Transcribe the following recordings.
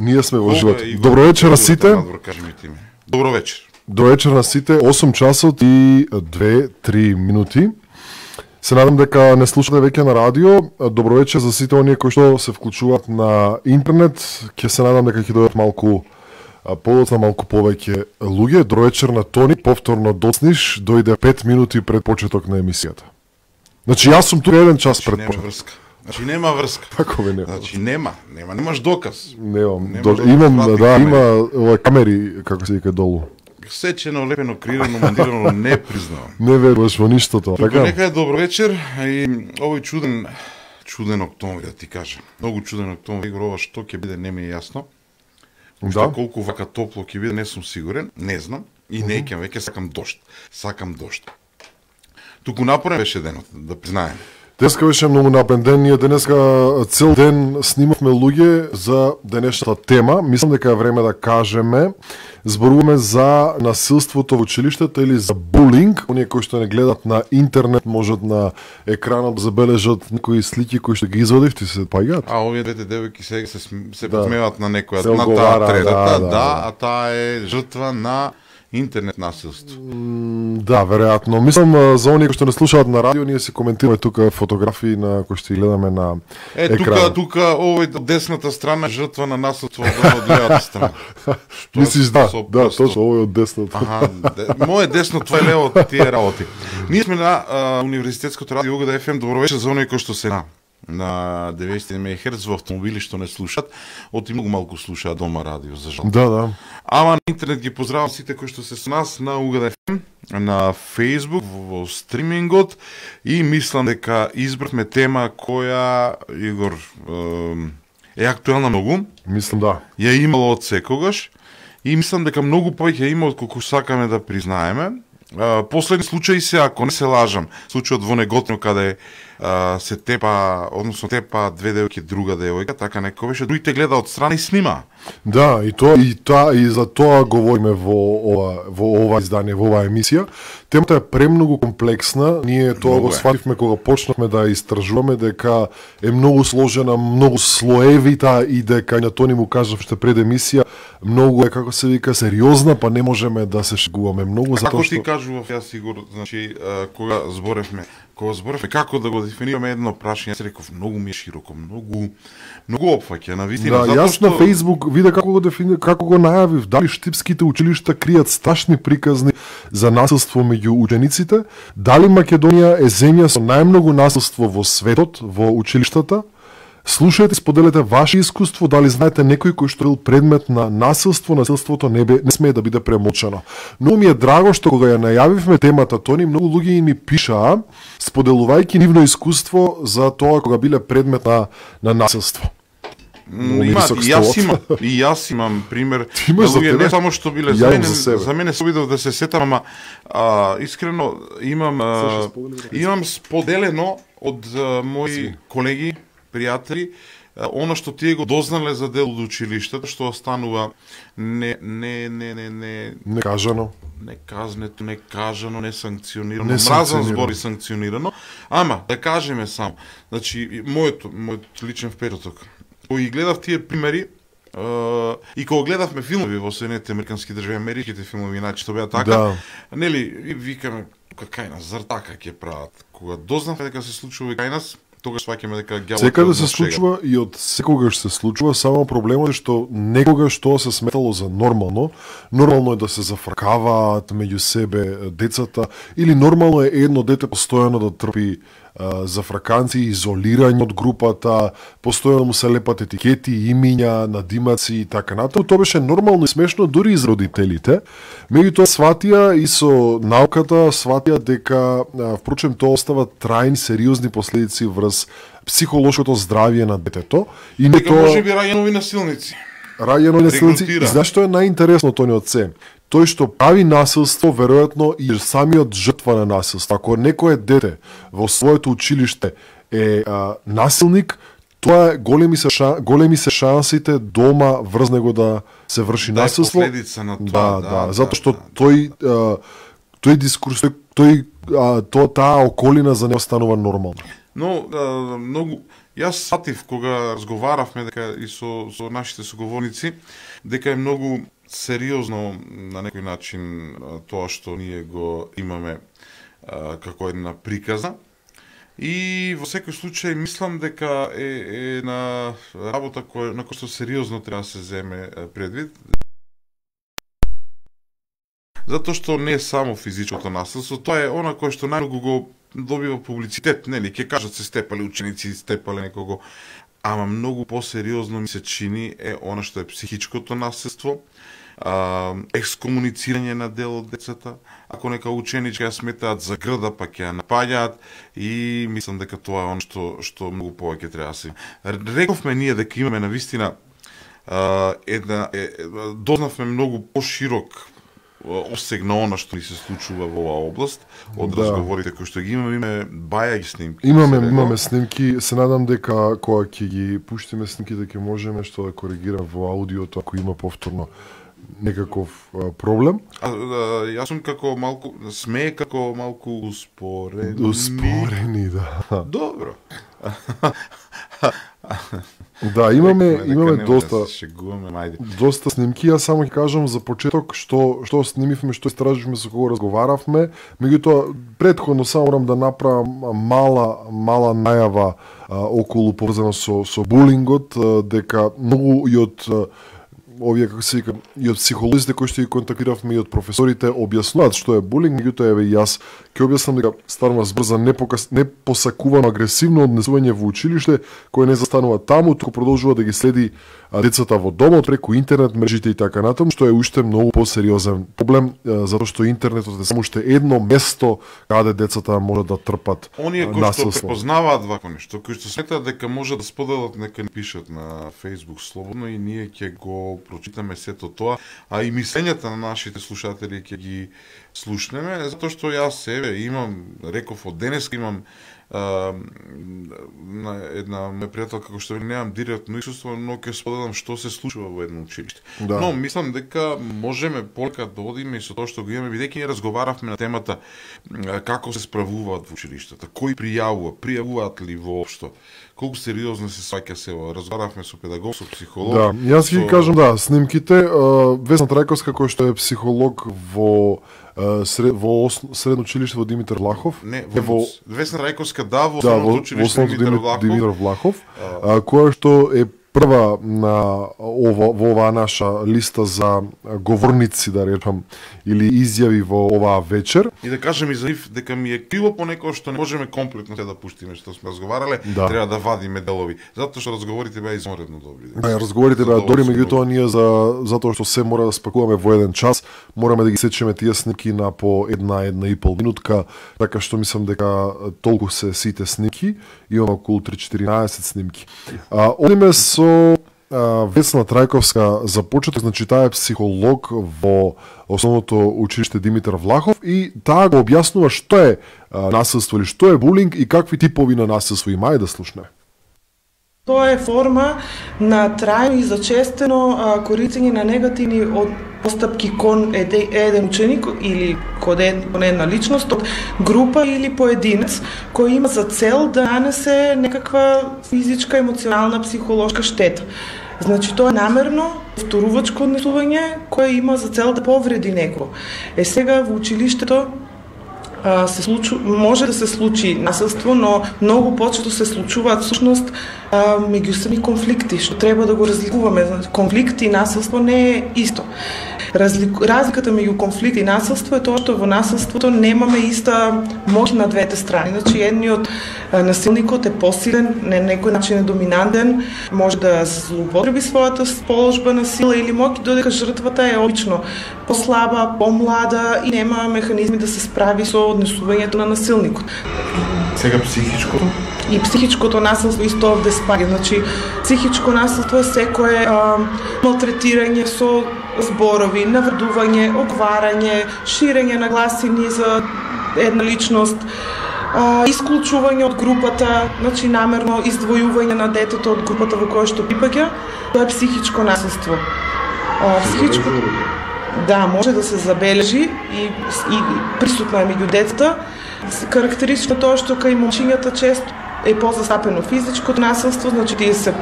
Ние сме во живот. Добро вечер на сите. Добро вечер. Добро вечер на сите. 8 часот и 2-3 минути. Се надам дека не слушате веќе на радио. Добро вечер за сите оние кои што се вклучуваат на интернет. Ќе се надам дека ќе дојдат малку подоцна, малку повеќе луѓе. Добро вечер на Тони. Повторно доцниш, дојде 5 минути пред почеток на емисијата. Значи јас сум тука 1 час пред почеток. Значи нема врска. Како бе нема? Значи немаш доказ. Немам. Имам има ова камери како се вика долу. Сечено, лепено, крирано, монтирано, не признавам. Не веруваш во ништо тоа. Така нека е добро вечер и овој чуден октомври, да ти кажам. Многу чуден октомври, ова што ќе биде не ми е јасно. Да. Колку вака топло ќе биде не сум сигурен, не знам и не ќе веќе сакам дожд. Туку напорен беше денот, да признаем. Денеска беше многу напрен ден, ние денеска цел ден снимавме луѓе за денешната тема. Мислам дека е време да кажеме, зборуваме за насилството во училиштата или за булинг. Оние кои што не гледат на интернет можат на екранот да забележат некои слики кои што ги извадив, ти се паѓаат. А овие двете девојки се подсмеваат на некоја, на таа третата, а таа е жртва на интернет насилство. Да, веројатно. Мислам за оние кои што не слушаат на радио, ние се коментираме тука фотографии на кои што гледаме на екран. Тука овој десната страна е жртва на насилство од левата страна. Мислиш да, точно овој од десната. Моје десно, твој лево, тие работи. Ние сме на Универзитетското радио УГД FM. Добро вечер за оние кои што се на 90 МГц во автомобили што не слушаат, оти многу малку слушаат дома радио, за жал. Да. Ама на интернет ги поздравам сите кои што се со нас на УГД FM, на Facebook, во стримингот и мислам дека избравме тема која, Игор, е актуелна многу. Мислам да. Ја имало од секогаш и мислам дека многу повеќе има од колку сакаме да признаеме. Последни случаи се, ако не се лажам, случајот во Неготино каде се тепа две девојки друга девојка, така некој беше, другите гледа од страна и снима. Да, и за тоа говориме во ова издание, во оваа емисија. Темата е премногу комплексна. Ние тоа го свативме кога почнавме да истражуваме дека е многу сложена, многу слоевита и дека на Тони му кажав што пред емисија многу е, како се вика, сериозна, па не можеме да се шегуваме многу затоа како што ти кажував јас, Сигур, значи кога зборевме како да го дефинираме едно прашање, се реков многу ми е широко, многу опфаќа на вистина. Да, јас на Facebook виде како го најавив, дали штипските училишта кријат страшни приказни за насилство меѓу учениците, дали Македонија е земја со најмногу насилство во светот, во училиштата. Слушајте, споделете ваше искуство, дали знаете некој кој што бил предмет на насилство, насилството не смее да биде премолчано. Но ми е драго што кога ја најавивме темата Тони, многу луѓе ми пишаа, споделувајќи нивно искуство за тоа кога биле предмет на насилство. И јас имам пример. Луѓе не само што биле за мене се обидов да се сетам, ама искрено имам споделено од мои колеги, пријатели, оно што тие го дознале за дел од училиштето, што останува некажано. Неказнето, некажано, несанкционирано, мразен збор и санкционирано. Ама, да кажеме само, значи, мојот личен впечаток, кој гледав тие примери, и кога гледавме филмови во Соединетите американски држави, америките филмови, иначе тоа беа така, нели, викаме, кај нас, зар така ќе прават? Кога дознавме дека се случува и кај нас, тогаш сваќаме дека ѓаволот секаде се случува и од секогаш се случува, само проблемот е што некогаш тоа се сметало за нормално е да се зафркаваат меѓу себе децата, или нормално е едно дете постојано да трпи зафрканци, изолирање од групата, постојано му се лепат етикети, имиња, надимаци и така натаму. Тоа беше нормално и смешно дури и за родителите. Меѓутоа сватија и со науката сватија дека впрочем тоа остава трајни сериозни последици врз психолошкото здравје на детето и не тоа можеби раѓанови насилници. И знаеш што е најинтересно Тони од се? Тој што прави насилство, веројатно и самиот жртва на насилство. Ако некое дете во своето училиште е насилник, тоа големи се шансите дома врз него да се врши насилство. Да, последица на тоа. Затоа што тој дискурс, таа околина за него станува нормално. Но многу Јас сатив кога разговаравме дека и со нашите соговорници дека е многу сериозно на некој начин тоа што ние го имаме како една приказна. И во секој случај мислам дека е на работа на која што сериозно треба да се земе предвид. Затоа што не е само физичкото насилство, тоа е она кое што најмногу го добива публицитет, нели, ќе кажат се степале ученици, степале некого, ама многу посериозно ми се чини е она што е психичкото насилство, екскомуницирање на дел од децата, ако нека ученичка ја сметаат за грда, па ќе ја напаѓаат, и мислам дека тоа е она што многу повеќе треба да се. Рековме ние дека имаме навистина дознавме многу поширок обсег на она што ни се случува во оваа област, од разговорите кои што ги имаме бајаги снимки. Имаме снимки, се надам дека кога ќе ги пуштиме снимките ќе можеме што да коригирам во аудиото ако има повторно некаков проблем. Јас сум како малку успорени. Успорени, да. Добро. Да, имаме доста снимки. Јас само ќе кажам за почеток што снимивме, што истраживме, со кого разговаравме. Меѓутоа, претходно само морам да направам мала најава околу поврзано со булингот, дека многу и од овие, како се вика, и од психолозите кои што ги контактиравме и од професорите објаснуваат што е булинг, меѓутоа еве јас ќе објаснам дека станува збор за непосакувано агресивно однесување во училиште, кое не застанува таму, туку продолжува да ги следи децата во домот преку интернет мрежите и така натаму, што е уште многу посериозен проблем, затоа што интернетот е само уште едно место каде децата можат да трпат насилство. Оние кои што препознаваат вако нешто, кои што сметаат дека може да споделат, нека ни пишат на Facebook слободно и ние ќе го прочитаме сето тоа, а и мислењата на нашите слушатели ќе ги слушнеме, затоа што јас реков од денеска имам една моја пријателка која што немам директно искуство, но ќе споделам што се случува во едно училиште. Да. Но мислам дека можеме полека да одиме и со тоа што го имаме, бидејќи ние разговаравме на темата како се справуваат во училиштата, кои пријавуваат ли воопшто, колку сериозно се сваќа се, разговаравме со педагог, со психолог. Да, јас ќе кажам снимките. Весна Трајковска која што е психолог во средно училиште во Димитар Влахов. Не, Весна Трајковска во основното училиште Димитар Влахов, која што е прва во оваа наша листа за говорници, да речам, или изјави во оваа вечер. И да кажем и за нив дека ми е криво понекогаш што не можеме комплетно се да пуштиме што сме разговарале, треба да вадиме делови, затоа што разговорите беа изморедно добри. Да, разговорите беа добри, меѓутоа ние затоа што се мора да спакуваме во еден час, мораме да ги сечеме тие снимки на по една и пол минутка, така што мислам дека толку се сите снимки, имаме околу 3-14 снимки. Одиме со Весна Трајковска за почеток, значи таа е психолог во основното училиште Димитар Влахов и таа го објаснува што е насилство или што е булинг и какви типови на насилство има. Ајде да слушнеме. Тоа е форма на трајно и зачестено користење на негативни постапки кон еден ученик или кон една личност од група или поединец кој има за цел да нанесе некаква физичка, емоционална, психолошка штета. Значи тоа е намерно повторувачко однесување кое има за цел да повреди некого. Сега во училиштето може да се случи насилство, но многу почесто се случуваат всушност меѓусебни конфликти, што треба да го разликуваме. Конфликт и насилство не е исто. Разликата меѓу конфликт и насилство е тоа што во насилството немаме иста моќ на двете страни. Значи едниот насилникот е посилен, на некој начин е доминантен, може да злоупотреби својата положба на сила или моќ, додека жртвата е обично послаба, помлада и нема механизми да се справи со однесувањето на насилникот. Сега психичкото? И психичкото насилство исто овде спаѓа. Значи, психичко насилство е секое малтретирање со зборови, навредување, оговарање, ширење на гласини за една личност, исклучување од групата, значи намерно издвојување на детето од групата во која што припаѓа, тоа е психичко насилство. Да, може да се забележи и присутно е меѓу децата. Карактеристично тоа што кај момчињата често е позастапено физичкото насилство, значи тие се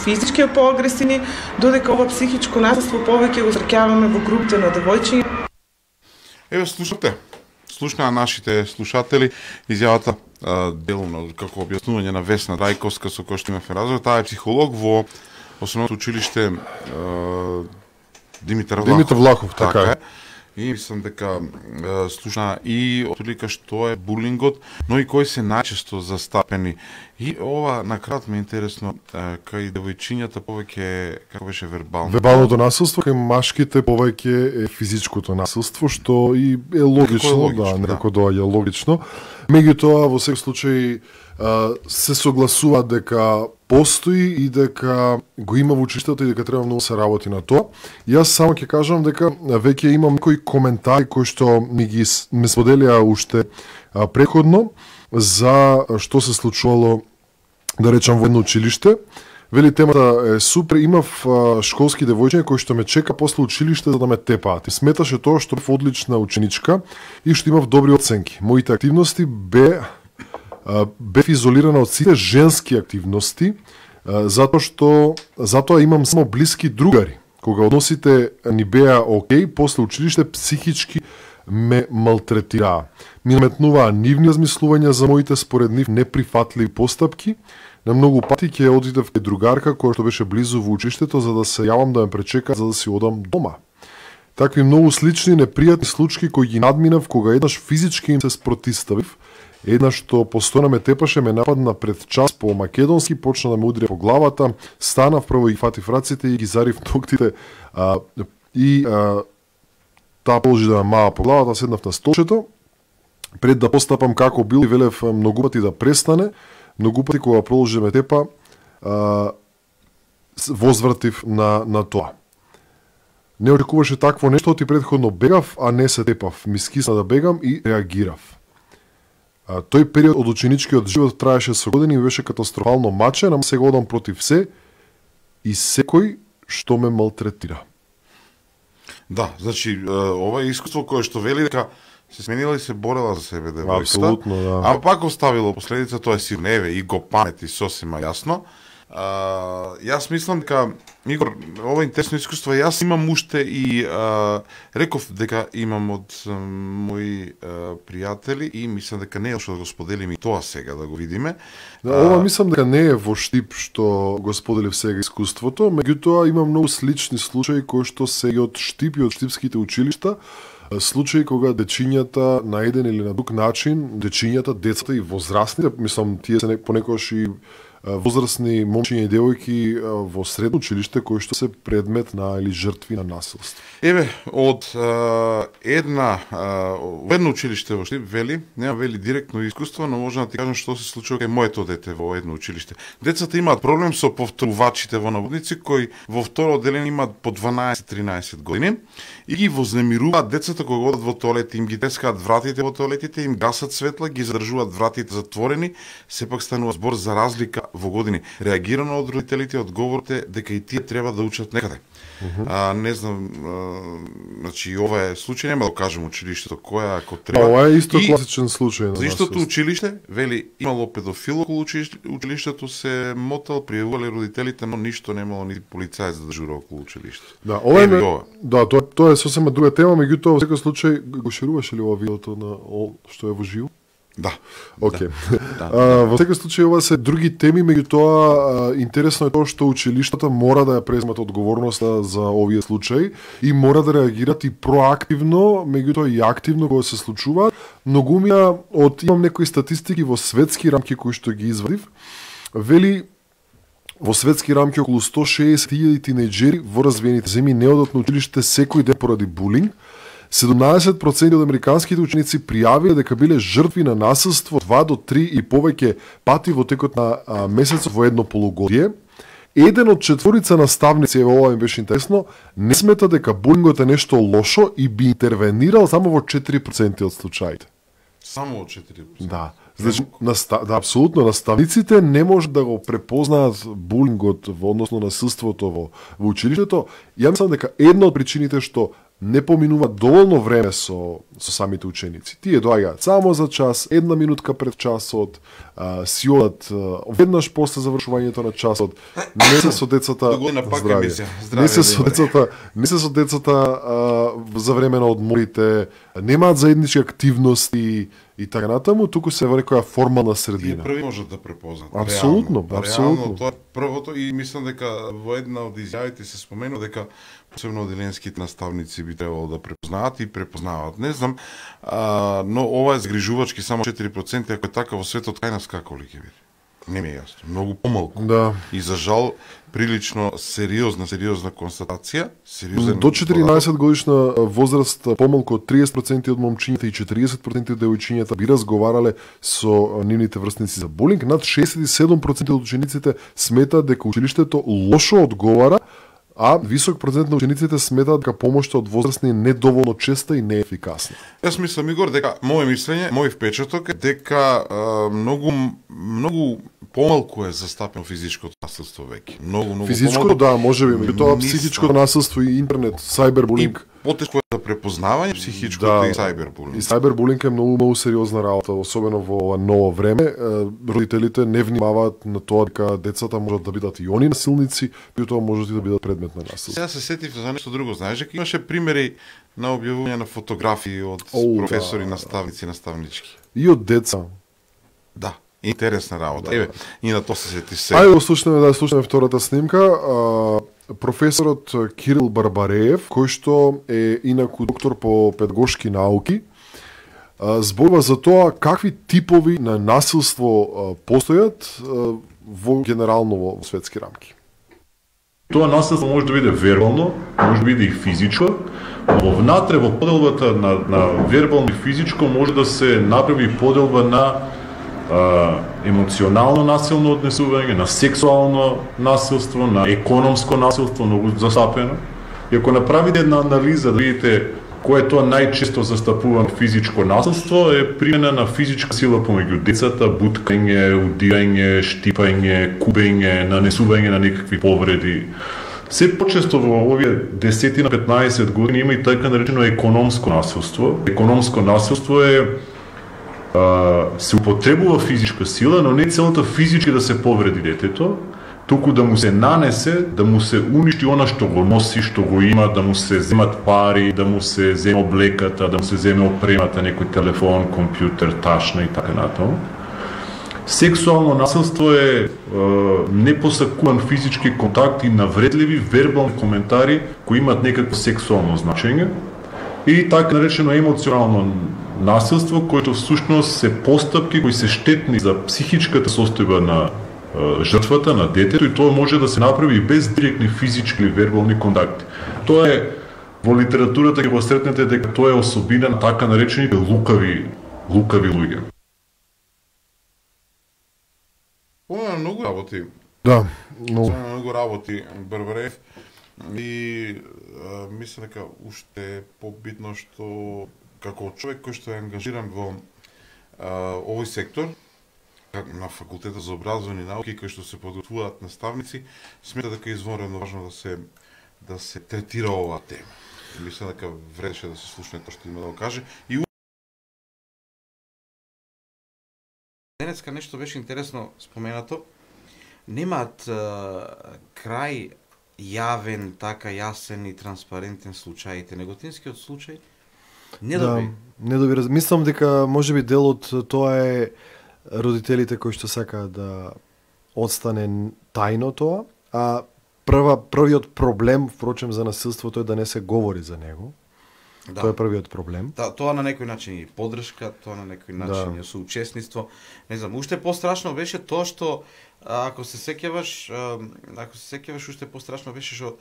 физички поагресивни, додека ова психичко насилство повеќе го среќаваме во групите на девојчиња. Еве слушна нашите слушатели изјавата делумно како објаснување на Весна Дајковска со која што имавме разговор. Таа е психолог во Основното училиште Димитар Влахов, така е. И мислам дека слушна и отолика што е булингот, но и кои се најчесто застапени. И ова на крајот ми е интересно, кај девојчињата повеќе како беше вербално. Вербалното насилство, кај машките повеќе е физичкото насилство, што и е логично, некако доаѓа логично. Меѓутоа во секој случај се согласува дека постои и дека го има во училиштето и дека треба многу се работи на тоа. Јас само ќе кажам дека веќе имам некои коментари кои што ме споделија уште претходно за што се случувало, да речам, во едно училиште. Вели, темата е супер, имав школски девојчиња кои што ме чека после училиште за да ме тепаат. И сметаше тоа што бев одлична ученичка и што имав добри оценки. Моите активности бев изолирана од сите женски активности, затоа имам само блиски другари. Кога односите ни беа окей, после училиште психички ме малтретираа. Ми наметнуваа нивни размислувања за моите според нив неприфатливи постапки. На многу пати ќе одидев кај другарка која што беше близу во училиштето за да се јавам да ме пречека за да си одам дома. Такви многу слични непријатни случаи кои ги надминав кога еднаш физички им се спротиставив. Една што постојано ме тепаше, ме нападна пред час по македонски, почна да ме удря по главата, станав прво и фатив раците и ги зарив ноктите таа положи да ме мава по главата, седнав на столчето, пред да постапам како бил и велев многу пати да престане, многу пати кога продолжи да ме тепа, возвратив на тоа. Не очекуваше такво нешто, ти претходно бегав, а не се тепав. Ми скисна да бегам и реагирав. Тој период од ученичкиот живот траеше со години и беше катастрофално мачен, ама сега одам против се и секој што ме малтретира. Да, значи, ова е искуство кое што вели дека се сменила и се борела за себе девојката. Апсолутно, да. А пак оставило последица, тоа е сирневе и го памети сосема јасно. Јас мислам дека, Игор, ова интересно искуство, јас имам уште и реков дека имам од мои пријатели и мислам дека не е што да го споделим и тоа сега да го видиме. Да, ова мислам дека не е во штип што го споделив сега искуството, меѓутоа има многу слични случаи кои што се и од штип и од штипските училишта, случаи кога дечињата на еден или на друг начин, децата и возрастните, мислам тие се понекогаш и возрастни момчиња и девојки во средно училиште кои што се предмет на или жртви на насилство. Еве, од едно училиште во Штип вели, нема вели директно искуство, но можам да ти кажам што се случува кај моето дете во едно училиште. Децата имаат проблем со повторувачите во наводници кои во второ одделение имаат по 12-13 години и ги вознемируваат децата кога одат во тоалет, им ги тескаат вратите во тоалетите, им гасат светла, ги задржуваат вратите затворени, сепак станува збор за разлика во години. Реагирано од родителите, одговорите дека и тие треба да учат некаде. Не знам, значи ова е случај, нема да кажем училиштето која ако треба. Ова е исто класичен случај на за истото училиште, вели имало педофил околу училиштето, се мотал, пријавувале родителите, но ништо немало ни полицаец да дежура околу училиштето. Да, ова е тоа е сосема друга тема, меѓутоа во секој случај го шируваше ли ова видеото на што е во живо? Да. Окей. Во секој случај ова се други теми, меѓутоа интересно е тоа што училиштата мора да ја преземат одговорноста за овие случаи и мора да реагираат и проактивно, меѓутоа и активно кога се случуваат. Многумија имам некои статистики во светски рамки кои што ги извадив. Вели во светски рамки околу 160.000 тинејџери во развиените земји не одат на училиште секој ден поради булинг. 17% од американските ученици пријавиле дека биле жртви на насилство 2 до 3 и повеќе пати во текот на месецот во едно полугодие. Еден од 4 наставници, ова ми беше интересно, не смета дека булингот е нешто лошо и би интервенирал само во 4% од случаите. Само во 4%? Да. Значи, да, апсолутно, наставниците не може да го препознаат булингот, односно насилството во училиштето. Ја мислам дека една од причините што не поминува доволно време со самите ученици. Тие доаѓаат само за час, една минутка пред часот, си одат веднаш после завршувањето на часот, не се со децата не се со децата за време на одморите, немаат заеднички активности и така натаму, туку се во некоја формална средина. Тие први можат да препознаат. Апсолутно. Реално, тоа е првото и мислам дека во една од изјавите се споменува дека посебно оделенските наставници би требало да препознаат и препознаваат. Не знам, но ова е згрижувачки само 4%, ако е така во светот, кај нас како ли ќе биде? Не ми е јасно. Многу помалку. Да. И за жал, прилично сериозна констатација. До 14 годишна возраст, помалку од 30% од момчињата и 40% од девојчињата би разговарале со нивните врсници за булинг. Над 67% од учениците сметаат дека училиштето лошо одговара, а висок процент на учениците сметаат дека помошта од возрастни е недоволно честа и неефикасна. Јас мислам, Игор, дека моје мислење, мој впечаток е дека многу помалку е застапено физичкото насилство веќе. Многу физичкото, да, можеби, меѓутоа психичкото насилство и интернет, сајбербулинг. Потешко е за препознавање психичкото и сајбербулинг. И сајбербулинг е многу сериозна работа, особено во ова ново време. Родителите не внимаваат на тоа дека децата можат да бидат и они насилници, меѓутоа можат и да бидат предмет на насилство. Сега се сетив за нешто друго, знаеш дека имаше примери на објавување на фотографии од професори, наставници, наставнички. И од деца. Да. Интересна работа. Еве, и на тоа се сети се. Ајде да слушнеме втората снимка. Професорот Кирил Барбареев, кој што е инаку доктор по педагошки науки, зборува за тоа какви типови на насилство постојат во генерално во светски рамки. Тоа насилство може да биде вербално, може да биде и физичко, но внатре во поделбата на вербално и физичко може да се направи поделба на емоционално насилно однесување, на сексуално насилство, на економско насилство, многу застапено. И ако направите една анализа да видите кој е тоа најчесто застапувано физичко насилство, е примена на физичка сила помеѓу децата, буткање, удирање, штипање, кубење, нанесување на некакви повреди. Се почесто во овие 10 на 15 години има и така наречено економско насилство. Економско насилство е се употребува физичка сила, но не целата физички да се повреди детето, туку да му се нанесе, да му се уништи она што го носи, што го има, да му се земат пари, да му се земе облеката, да му се земе опремата, некој телефон, компјутер, ташна и така натаму. Сексуално насилство е непосакуван физички контакт и навредливи вербални коментари кои имаат некакво сексуално значење. И така наречено емоционално насилство, което всушност се постапки кои се штетни за психичката состојба на жртвата, на детето, и тоа може да се направи без директни физички или вербални контакти. Тоа е во литературата ќе го сретнете дека тоа е особина на така наречените лукави луѓе. Ова е многу работи. Да, многу работи, Барбареев. И мислам дека уште побитно што како човек кој што е ангажиран во овој сектор на факултетот за образовни науки, кој што се подготвуваат наставници, смета дека е извонредно важно да се третира оваа тема. Мислам дека вредеше да се слушне тоа што има да го каже. И денеска нешто беше интересно споменато. Немаат крај јавен, така јасен и транспарентен случаите. Неготинскиот случај не доби. Мислам дека можеби дел од тоа е родителите кои што сакаат да одстане тајно тоа, а првиот проблем, впрочем, за насилството е да не се говори за него. Да. Тоа е првиот проблем. Да, тоа на некој начин и поддршка, тоа на некој начин и соучесниство. Не знам, уште пострашно беше тоа што ако се сеќаваш, уште пострашно беше што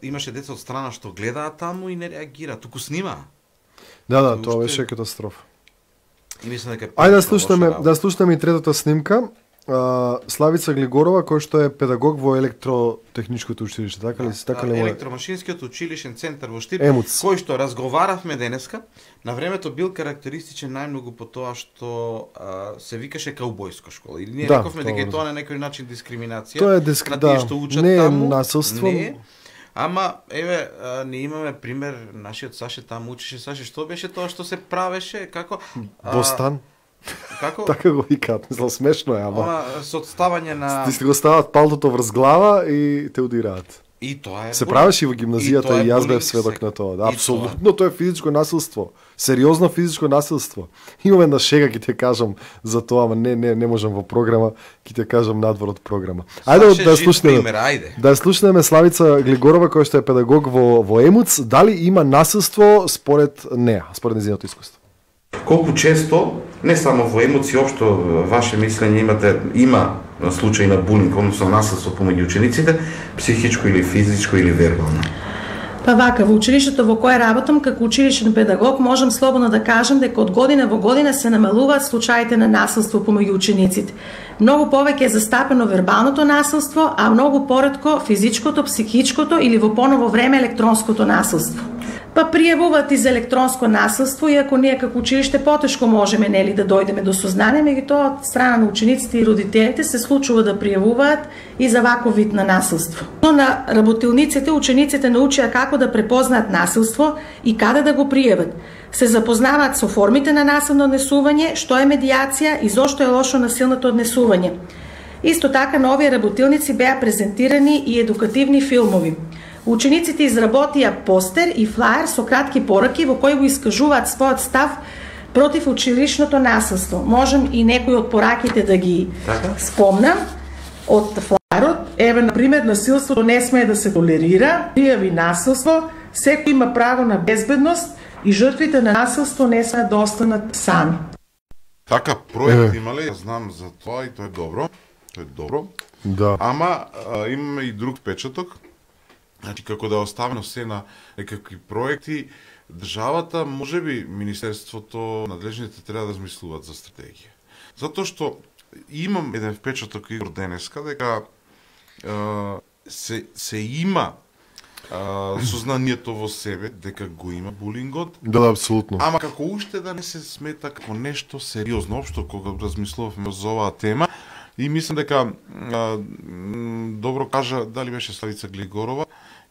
имаше деца од страна што гледаат таму и не реагираат, туку снимаа. Да, тоа беше катастрофа. И мислам дека Ајде да слушнеме и третата снимка. Славица Глигорова, кој што е педагог во електротехничкото училиште, така ли? Електромашинскиот училишен центар во Штип, кој што разговаравме денеска, на времето бил карактеристичен најмногу по тоа што се викаше каубојска школа. Или ние рековме дека тоа на некој начин дискриминација на тие што учат таму. Не е насилство. Не, Ама, еве, ние имаме пример, нашиот Саше там учеше. Саше, што беше тоа што се правеше? Како? Бостан. Како? Така го викаат, мислам смешно е, ама со отставање на... Ти го стават палтото врз глава и те удираат. И тоа е... Се правеше и во гимназијата и јас бев сведок на тоа. Да, апсолутно тоа е физичко насилство. Сериозно физичко насилство. Имам една шега, ќе ти кажам за тоа, ама не можам во програма, ќе ти кажам надвор од програма. Ајде да слушнеме. Да слушнеме Славица Глигорова, која што е педагог во ЕМУЦ, дали има насилство според неа, според нејзиното искуство. Колку често, не само во емоции, општо ваше мислење има случаи на булинг, односно насилство помеѓу учениците, психичко или физичко или вербално? Па вака, во училиштето во кое работам како училишен педагог, можам слободно да кажам дека од година во година се намалуваат случаите на насилство помеѓу учениците. Многу повеќе е застапено вербалното насилство, а многу поретко физичкото, психичкото или во поново време електронското насилство. Па пријавуваат и за електронско насилство, иако ние како училиште потешко можеме нели да дојдеме до сознание, меѓутоа од страна на учениците и родителите се случува да пријавуваат и за ваков вид на насилство. Но на работилниците учениците научија како да препознаат насилство и каде да го пријават. Се запознаваат со формите на насилно однесување, што е медијација и зошто е лошо насилното однесување. Исто така на овие работилници беа презентирани и едукативни филмови. Учениците изработија постер и флаер со кратки пораки во кои го искажуваат својот став против училишното насилство. Можем и некои од пораките да ги спомнам од флаерот. Еве, например, насилството не смее да се толерира, пријави насилство, секој има право на безбедност и жртвите на насилство не смеат да останат сами. Така, проект имале, јас знам за тоа и тоа е добро. Тоа е добро. Да. Ама имаме и друг печаток. Значи, како да е оставено се на некакви проекти, државата, можеби Министерството, надлежните треба да размислуваат за стратегија. Затоа што имам еден впечаток Игор денеска, дека се има сознанието во себе дека го има булингот. Да, апсолутно. Ама како уште да не се смета како нешто сериозно, општо кога размислувавме за оваа тема, и мислам дека добро кажа, дали беше Славица Глигорова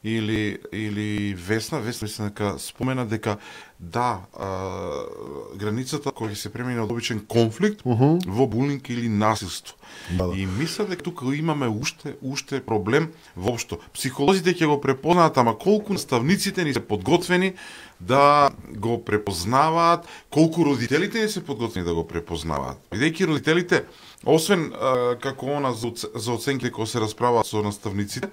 или Весна мислам дека спомена дека да, границата која се премине од обичен конфликт во булинг или насилство. Да. И мислам дека тука имаме уште проблем воопшто. Психолозите ќе го препознаат, ама колку наставниците ни се подготвени да го препознаваат, колку родителите ни се подготвени да го препознаваат. Бидејќи родителите, освен како она за оценките кои се расправаат со наставниците,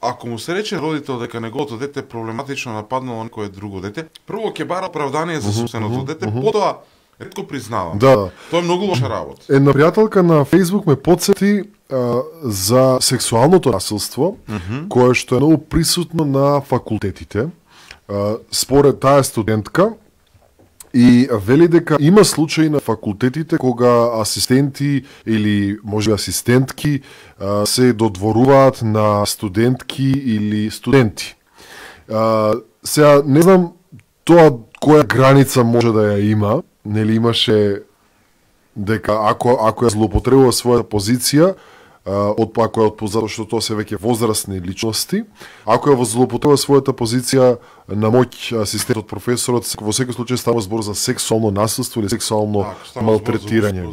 ако му се рече родител дека неговото дете проблематично нападнало некое друго дете, прво ќе бара оправдание за собственото дете, потоа ретко признава. Да. Тоа е многу лоша работа. Една пријателка на Facebook ме потсети за сексуалното насилство, кое што е многу присутно на факултетите. Според таа студентка, и вели дека има случаи на факултетите кога асистенти или може асистентки се додворуваат на студентки или студенти. Сега не знам тоа која граница може да ја има, нели имаше дека ако ја злоупотребува својата позиција, ако е затоа што тоа се веќе возрастни личности, ако ја злоупотребува својата позиција на моќ асистентот, професорот, во секој случај става збор за сексуално насилство или сексуално малтретирање.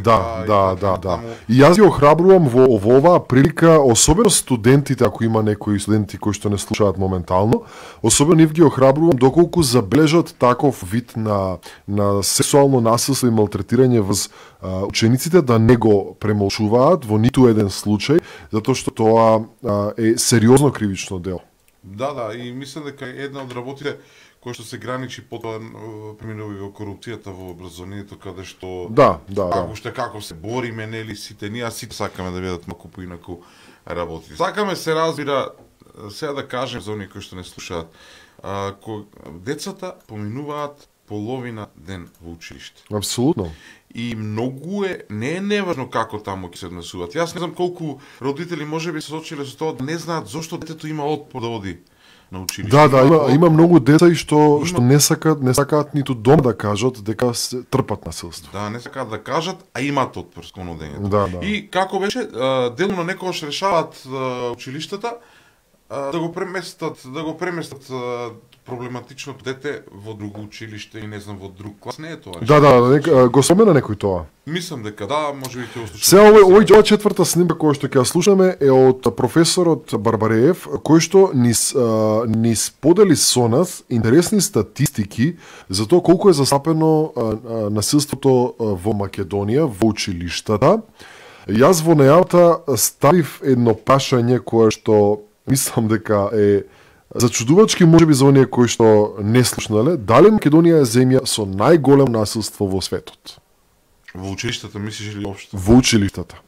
Да. И јас ги охрабрувам во оваа прилика, особено студентите, ако има некои студенти кои што не слушаат моментално, особено нив ги охрабрувам доколку забележат таков вид на сексуално насилство и малтретирање врз учениците да не го премолчуваат во ниту еден случај, затоа што тоа е сериозно кривично дело. Да, и мислам дека една од работите која што се граничи потоа преминува во корупцијата во образованието, каде што уште како се бориме, нели сите ние сите сакаме да бидат малку поинаку работи. Сакаме се разбира, сега да кажем за оние кои што не слушаат, децата поминуваат половина ден во училиште. Апсолутно. И многу не е неважно како таму ќе се однесуваат. Јас не знам колку родители можеби се соочиле со тоа да не знаат зошто детето има отпор да оди на училиште. Да, има многу деца и што не сакаат ниту дома да кажат дека се трпат насилство. Да, не сакаат да кажат, а имаат отпор кон одењето. Да. И како беше, делно некогаш решаваат училиштата Да го преместат проблематичното дете во друго училиште и не знам во друг клас, не е тоа. Да, го спомена некој тоа. Мислам дека да, можеби ќе услушаме. Се ова четврта снимка која што ќе ја слушаме е од професорот Барбареев, кој што ни сподели со нас интересни статистики за тоа колку е застапено насилството во Македонија, во училиштата. Јас во најавата ставив едно прашање кое што мислам дека е зачудувачки можеби за оние кои што не слушнале, дали Македонија е земја со најголемо насилство во светот? Во училиштата мислиш или општо? Во училиштата.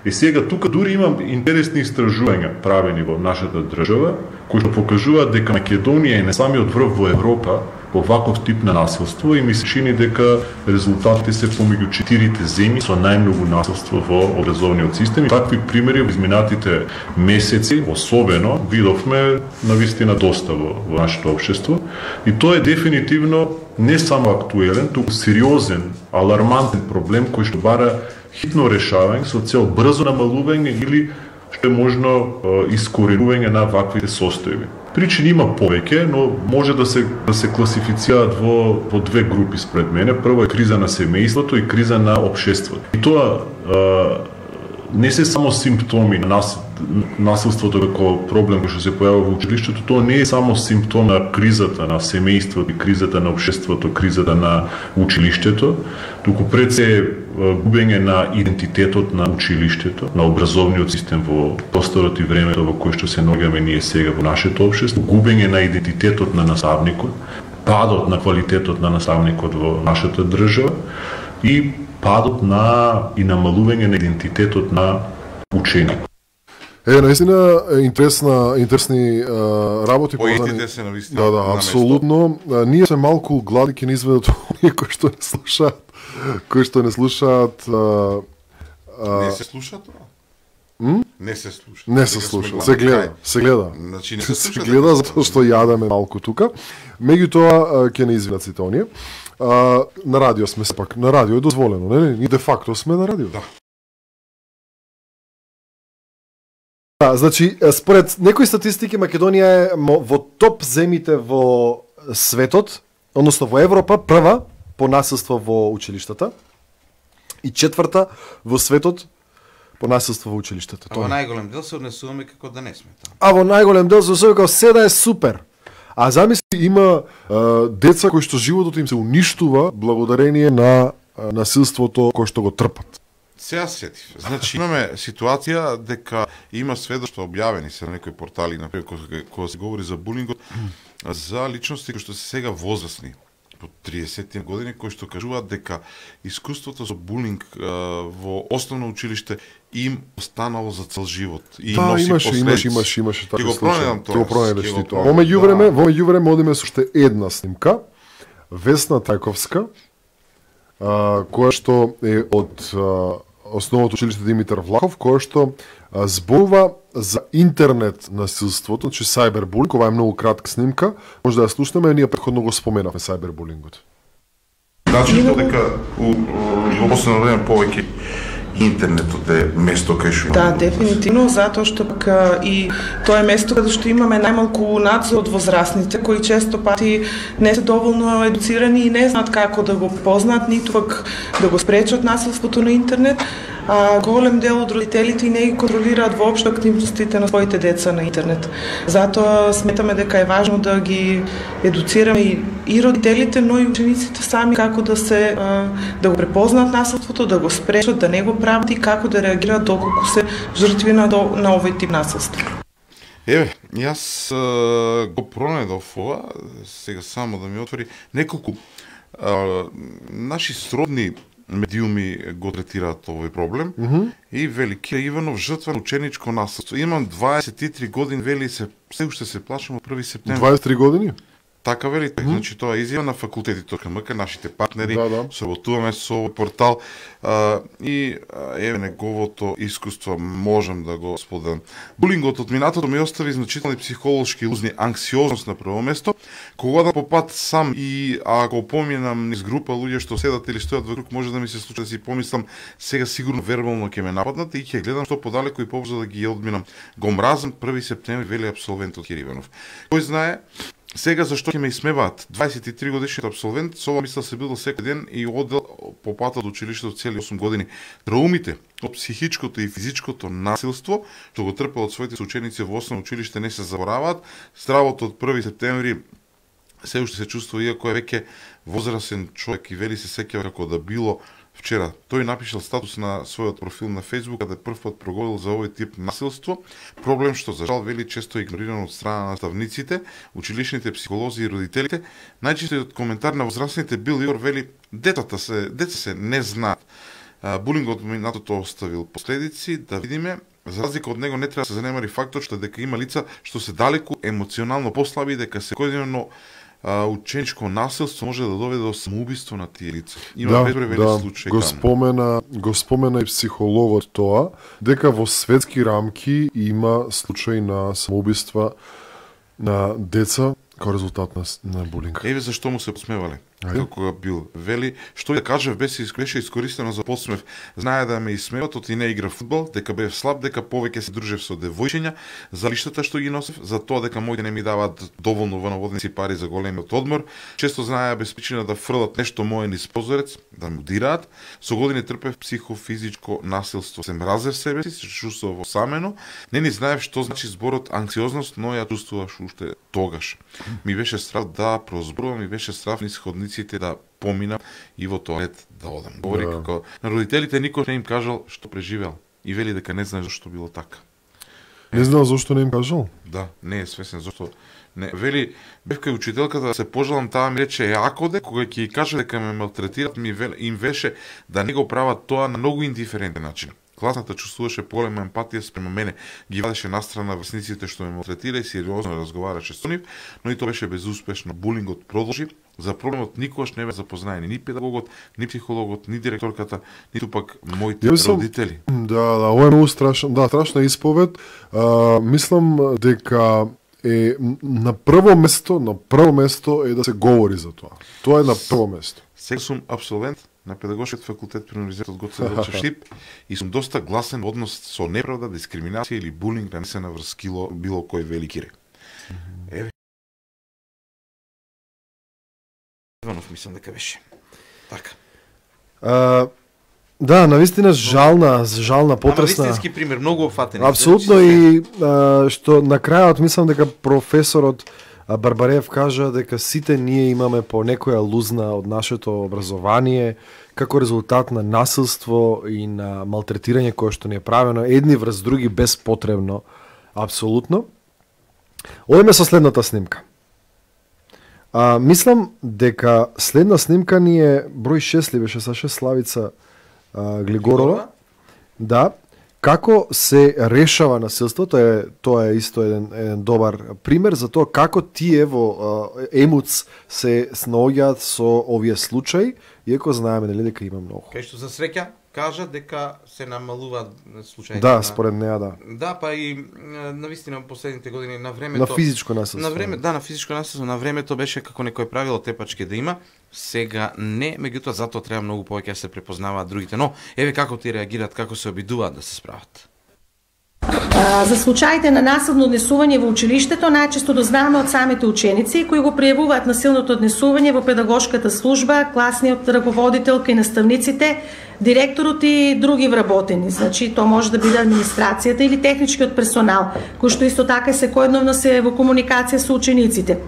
И сега тука дури имам интересни истражувања правени во нашата држава, кои што покажуваат дека Македонија е на самиот врв во Европа по ваков тип на насилство и ми се чини дека резултатите се помеѓу 4 земји со најмногу насилство во образовниот систем. И такви примери во изминатите месеци, особено, видовме навистина доста во нашето општество. И тоа е дефинитивно не само актуелен, туку сериозен, алармантен проблем кој што бара хитно решавање со цел брзо намалување или што е можно искоренување на ваквите состојби. Причини има повеќе, но може да се класифицираат во две групи според мене. Прво е криза на семејството и криза на општеството. И тоа не се само симптоми на насилството како проблем кој што се појавува во училиштето, тоа не е само симптом на кризата на семејството, кризата на општеството, кризата на училиштето, туку пред се губење на идентитетот на училиштето, на образовниот систем во просторот и времето во кој што се наоѓаме ние сега во нашето општество, губење на идентитетот на наставникот, падот на квалитетот на наставникот во нашата држава и падот и намалување на идентитетот на ученикот. Наистина интересни работи поетите се навистина. Да, апсолутно. Ние се малку гладни ќе ни изведат оние кои што не слушаат. Не се слуша тоа? Не се слуша. Не се слуша. Се гледа. Значи не се слуша. Се гледа затоа што јадеме малку тука. Меѓутоа ќе не извинат сите оние. На радио сме сепак. На радио е дозволено, нели? Ние де факто сме на радио. Да. Значи, според некои статистики, Македонија е во топ земите во светот, односно во Европа, прва по насилство во училиштата и четврта во светот по насилство во училиштата. Во најголем дел се однесуваме како да не сме таму. Во најголем дел се однесуваме како се да е супер. А замисли, има деца кои што животот им се уништува благодарение на насилството кој што го трпат. Сега сетив. Значи, имаме ситуација дека има сведоштва објавени се на некои портали, например, кога се говори за булингот, за личности кои што се сега возрастни, по 30 години, кои што кажуваат дека искуството со булинг во основно училиште им останало за цел живот и носи последици. Имаше така случај. Ќе го пронајдеш ти тоа. Во меѓувреме одиме со уште една снимка. Весна Тајковска, која што е од основното училиште Димитар Влахов, која што зборува за интернет насилството, значи сайбербулинг. Ова е многу кратка снимка, може да ја слушнеме, ние претходно го споменавме сайбербулингот. Значи дека во последно време повеќе интернетот е место кај што Да, дефинитивно, затоа што пак и тоа е место каде што имаме најмалку надзор од возрастните, кои често пати не се доволно едуцирани и не знаат како да го познаат, ниту пак да го спречат насилството на интернет. Голем дел од родителите и не ги контролираат воопшто активностите на своите деца на интернет. Затоа сметаме дека е важно да ги едуцираме и родителите, но и учениците сами како да го препознаат насилството, да го спречат, да не го прават и како да реагираат доколку се жртви на овој тип насилство. Јас го пронајдов ова, сега само да ми отвори неколку наши сродни медиуми го третираат овој проблем и вели Кира Иванов жртва на ученичко насилство. Имам 23 години, вели се уште се плашам од 1 септември. 23 години? Така велите, значи тоа е изјава на факултети.мк, нашите партнери, Да. соработуваме со овој портал и еве неговото искуство можам да го споделам. Булингот од минатото ми остави значителни психолошки лузни, анксиозност на прво место, кога да попат сам и ако поминам низ група луѓе што седат или стојат вокруг, може да ми се случи да си помислам сега сигурно вербално ќе ме нападнат и ќе гледам што подалеку и побрзо да ги одминам. Го мразам 1 септември, вели абсолвентот Кириванов. Кој знае сега зашто ќе ме исмеваат? 23 годишниот абсолвент, со ова мисла се бидел секој ден и одел по патот до училиштето цели 8 години. Траумите од психичкото и физичкото насилство што го трпел од своите соученици во основно училиште не се забораваат. Стравото од 1 септември се уште се чувствува, иако е веќе возрасен човек и вели се сеќава како да било вчера. Тој напишал статус на својот профил на Facebook, каде прв пат проговорил за овој тип насилство, проблем што за жал вели често игнориран од страна на наставниците, училишните психолози и родителите. Најчестиот коментар на возрастните бил Јор вели деца се не знаат. Булингот минатото оставил последици, да видиме. За разлика од него не треба да се занемари фактот што дека има лица што се далеку емоционално послаби и дека секојдневно ученичко насилство може да доведе до самоубиство на тие лица. Има безброј случаи. Го спомена и психологот тоа, дека во светски рамки има случаи на самоубиства на деца како резултат на булинг. Еве зашто му се посмевале. Како бил вели, што да кажев беше искористено за подсмев. Знае да ме исмеват од и не игра фудбал, дека бев слаб, дека повеќе се дружев со девојчиња, за лиштата што ги носев, за тоа дека моите не ми даваат доволно во наводници пари за големиот одмор, често знае без причина да фрлат нешто мое низ позорец, да му дираат. Со години трпев психофизичко насилство. Се мразев себе си, се чувствував осамено, не ни знаев што значи зборот анксиозност, но ја чувствуваш уште тогаш. Ми беше страв да прозборувам, ми беше страв низ ходниците да поминам и во тоалет да одам. Говори како на родителите никој не им кажал што преживел и вели дека не знае зашто било така. Не знал зашто не им кажал? Да, не е свесен зашто. Не, вели, бев кај учителката да се пожалам, таа ми рече јакоде, кога ќе ја каже дека ме малтретират, им веше да не го прават тоа на многу индиферентен начин. Класната чувствуваше поголема емпатија спрема мене, ги вадеше настрана врсниците што ме малтретира и сериозно разговараше со нив, но и тоа беше безуспешно. Булингот продолжи. За проблемот никогаш не бе запознаени ни педагогот, ни психологот, ни директорката, ниту пак моите родители. Да, ова е многу страшна исповед. Мислам дека е на прво место е да се говори за тоа. Тоа е на прво место. Сега сум абсолвент на педагошкиот факултет при универзитетот Гоце Делчев Штип и сум доста гласен во однос со неправда, дискриминација или булинг нанесена врз било кој велики ре. Еве. Иванов мислам дека беше. Така. Да, навистина жална, потресна. Ама вистински пример, многу опфатени. Апсолутно и што на крајот мислам дека професорот Барбареев кажа дека сите ние имаме по некоја лузна од нашето образование како резултат на насилство и на малтретирање кое што ни е правено едни врз други безпотребно. Апсолутно. Одиме со следната снимка. Мислам дека следна снимка ни е број 6 ли беше Саше Славица Глигорова. Да. Како се решава насилство, тоа е исто еден добар пример за тоа како тие во ЕМУЦ се снаоѓаат со овие случаи, иако знаеме нели дека има многу. Кај што за среќа кажа дека се намалуваат случаи. Да, според неа да. Да, па и навистина последните години на времето на физичко насилство. На физичко насилство на времето беше како некој правило тепачки да има. Сега не, меѓутоа затоа треба многу повеќе да се препознаваат другите, но еве како ти реагираат, како се обидуваат да се справат. За случаите на насилно однесување во училиштето најчесто дознаваме од самите ученици кои го пријавуваат насилното однесување во педагошката служба, класниот раководителка и наставниците, директорот и други вработени. Значи, тоа може да биде администрацијата или техничкиот персонал, кој што исто така секојдневно се во комуникација со учениците.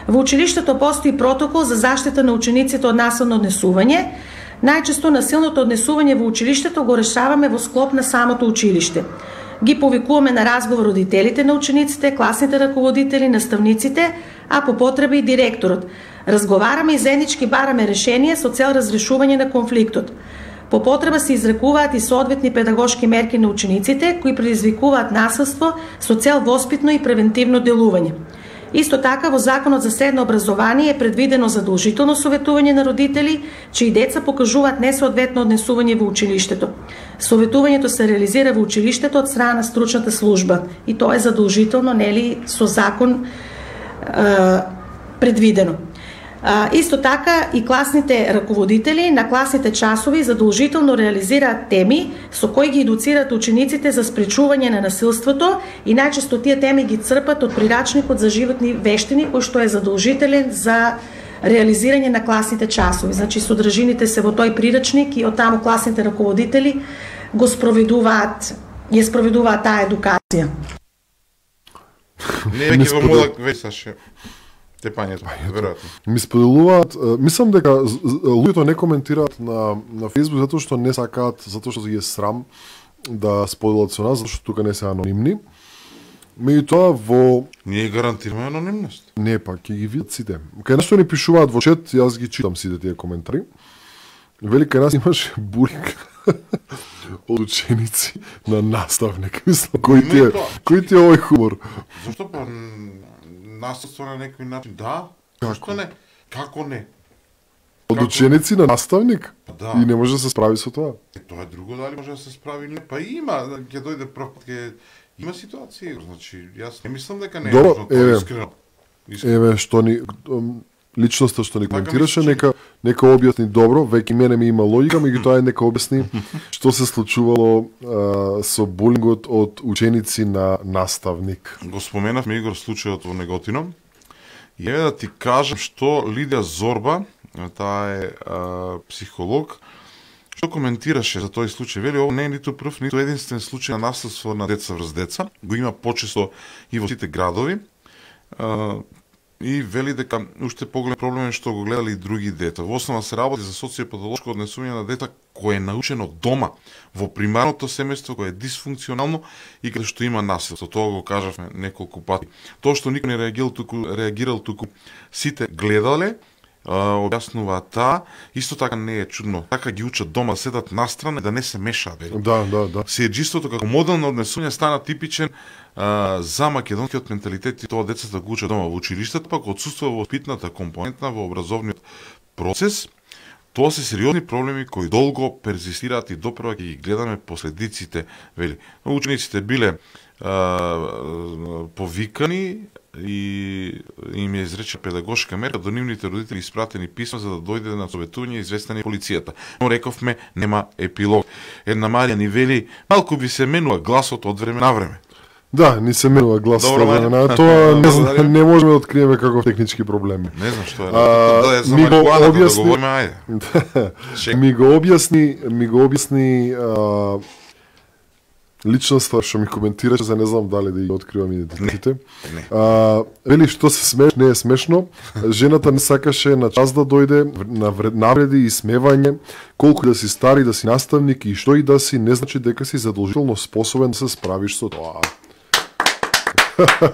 Во училиштето постои протокол за заштита на учениците од насилно однесување. Најчесто насилното однесување во училиштето го решаваме во склоп на самото училиште. Ги повикуваме на разговор родителите на учениците, класните раководители, наставниците, а по потреба и директорот. Разговараме и заеднички бараме решение со цел разрешување на конфликтот. По потреба се изрекуваат и соодветни педагошки мерки на учениците кои предизвикуваат насилство со цел воспитно и превентивно делување. Исто така, во Законот за средно образование е предвидено задолжително советување на родители, чии деца покажуваат несоодветно однесување во училиштето. Советувањето се реализира во училиштето од страна на стручната служба и тоа е задолжително, нели, со закон предвидено. Исто така и класните раководители на класните часови задолжително реализираат теми со кои ги едуцираат учениците за спречување на насилството и најчесто тие теми ги црпат од прирачникот за животни вештини, кој што е задолжителен за реализирање на класните часови. Значи содржините се во тој прирачник и од таму класните раководители го спроведуваат таа едукација. Не е веќе во мода весаше. Тепањето, веројатно. Ми споделуваат, мислам дека луѓето не коментираат на Facebook затоа што не сакаат, затоа што ги е срам да споделат со нас, затоа што тука не се анонимни. Меѓутоа во ние гарантираме анонимност. Не, па ќе ги видат сите. Кај нас што ни пишуваат во чет, јас ги читам сите тие коментари. Вели кај нас имаше булинг од ученици на наставник. Мислам, кој ти е овој хумор? Зашто па насилство на некој начин? Да. Зашто не? Како не? Од ученици на наставник? Да. И не може да се справи со тоа? Тоа е друго, дали може да се справи или не? Па има, ќе дојде прв пат, има ситуации, значи јас не мислам дека не е важно тоа искрено. Еве што ни личноста што ни коментираше, нека објасни добро, веќе мене ми има логика, меѓутоа нека објасни што се случувало со булингот од ученици на наставник. Го споменавме, Игор, случајот во Неготино. И еве да ти кажам што Лидија Зорба, таа е психолог, што коментираше за тој случај. Вели, ово не е ниту прв, ниту единствен случај на насилство на деца врз деца. Го има почесто и во сите градови. И вели дека уште поголем проблем е што го гледали и други дета. Во основа се работи за социопатолошко однесување на дета кое е научено дома, во примарното семејство кое е дисфункционално и каде што има насилство. Тоа го кажавме неколку пати. Тоа што никој не реагирал туку сите гледале, објаснува таа, исто така не е чудно. Така ги учат дома, седат настрана да не се мешаат. Да. Сиеџиството како модел на однесување стана типичен за македонскиот менталитет и тоа децата го учат дома. Во училиштето пак отсуствува воспитната компонента во образовниот процес. Тоа се сериозни проблеми кои долго перзистираат и допрева ќе ги гледаме последиците, вели. Учениците биле повикани и им е изречена педагошка мерка до нивните родители испратени писма за да дојде на советување и известени полицијата. Но рековме нема епилог. Една Марија ни вели малку би се менува гласот од време на време. Да, ни се менува гласот од време на тоа не можеме да откриеме каков технички проблеми. Не знам што е. Да е за марихуаната да говориме, ајде. Ми го објасни личноста што ми коментираше, за не знам дали да ги откривам идентитетите. Вели што се смеш, не е смешно. Жената не сакаше на час да дојде, на навреди и смевање, колку да си стари, да си наставник и што и да си, не значи дека си задолжително способен да се справиш со тоа.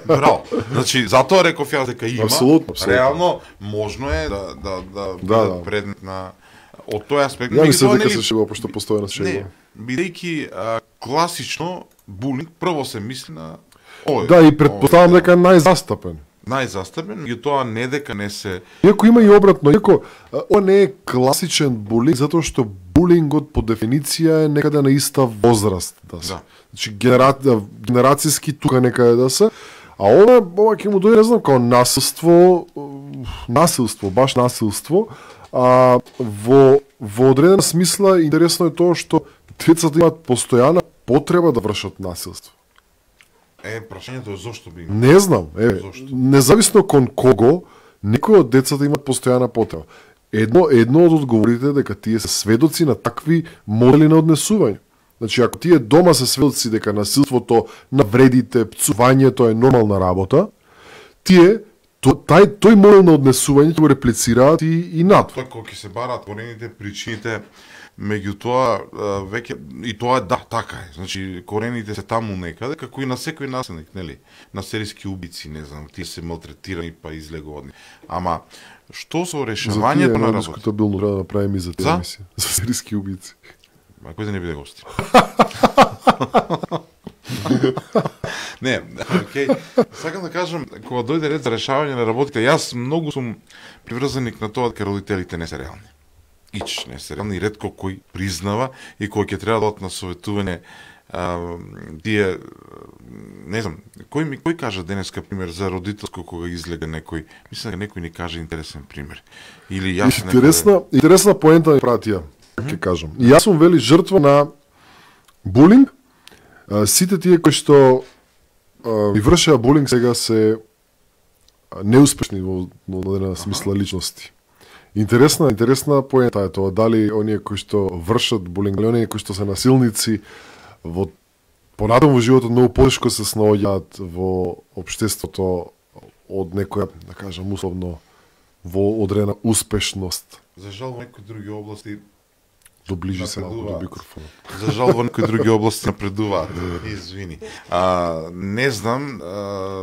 Браво. Значи, затоа реков јас дека има. Апсолутно. Реално можно е да предмет на од тој аспект. Ја мислам дека се шегува, пошто постојано се шегува. Бидејќи класично булинг прво се мисли на Да, и предпоставам дека најзастапен. Меѓутоа не дека не се. Иако има и обратно, иако ова не е класичен булинг затоа што булингот по дефиниција е некаде на иста возраст да се. Значи генерацијски тука некаде да се. А ова ќе му дојде, не знам, као насилство, баш насилство. Во одредена смисла интересно е тоа што децата имаат постојана потреба да вршат насилство. Прашањето е зошто би имал? Не знам, независно кон кого, некои од децата имаат постојана потреба. Едно од одговорите дека тие се сведоци на такви модели на однесување. Значи, ако тие дома се сведоци дека насилството, навредите, пцувањето е нормална работа, тие тој модел на однесување го реплицираат и надвор. Тоа кога ќе се бараат корените, причините, меѓутоа веќе и тоа да, така е. Значи корените се таму некаде, како и на секој насилник, нели? На серијски убици, не знам, тие се малтретирани па излегувани. Ама што со решавањето на работа? Дискутабилно треба да направиме и за тие емисија. За серијски убици. Кој да не биде гости? Не, окей. Сакам да кажам, кога дојде ред за решавање на работите, јас многу сум приврзаник на тоа дека родителите не се реални. Не се реални, ретко кој признава и кој ќе треба да одат на советување тие, не знам, кој кажа денеска пример за родителско кога излега некој, мислам дека некој ни каже интересен пример. Или јас интересна поента ми пратија, ќе кажам. И јас сум вели жртва на булинг. Сите тие кои што ми вршеа булинг сега се неуспешни во одредена смисла личности. Интересна поента е тоа, дали оние кои што вршат булинг, дали оние кои што се насилници во понатаму во животот многу потешко се снаоѓаат во општеството од некоја, да кажам, условно во одредена успешност. За жал во некои други области доближи се малку до микрофонот. За жал во некои други области напредуваат. Извини. Не знам,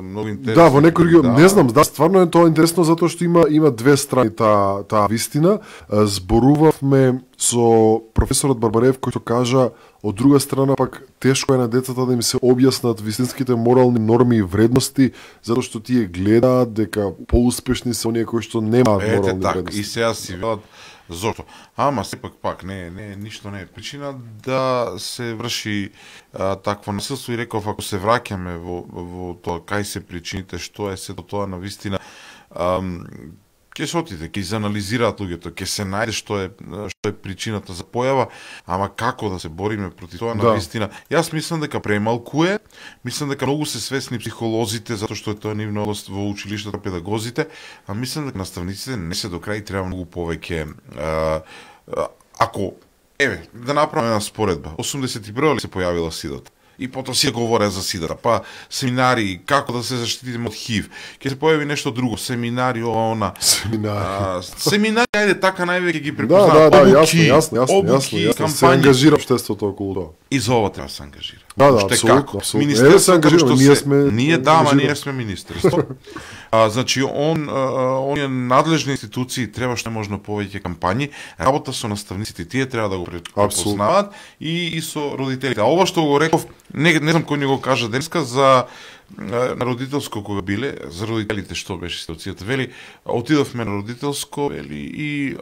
многу интересно. Да, во некои други, не знам, да, стварно е тоа интересно затоа што има две страни таа вистина. Зборувавме со професорот Барбарев кој што кажа од друга страна пак тешко е на децата да им се објаснат вистинските морални норми и вредности затоа што тие гледаат дека поуспешни се оние кои што немаат морални вредности. И сега си велат зошто? Ама сепак пак ништо не е причина да се врши такво насилство и реков ако се враќаме во тоа кај се причините, што е сето тоа на вистина, ќе се отиде, ќе изанализираат луѓето, ќе се најде што е причината за појава, ама како да се бориме против тоа на вистина. Јас мислам дека премалку е, мислам дека многу се свесни психолозите затоа што е тоа нивна област во училиштата, педагозите, а мислам дека наставниците не се до крај, треба многу повеќе ако да направиме една споредба. 81 се појавила СИДАТ. И потоа си говореа за СИДАТа, па семинари, како да се заштитиме од ХИВ. Ќе се појави нешто друго, семинари, семинари, ајде така највеќе ги препознаваат. Обуки, кампањи. Се ангажира општеството околу тоа. И за ова треба да се ангажира. Да, апсолутно. Министерството, ние сме министерство. Значи, оние надлежни институции требаш можно повеќе кампањи, работа со наставниците, тие треба да го препознаваат и со родителите. А ова што го реков, не знам кој ни го кажа денеска за на родителско кога биле, за родителите што беше ситуацијата. Вели, отидовме на родителско, вели, и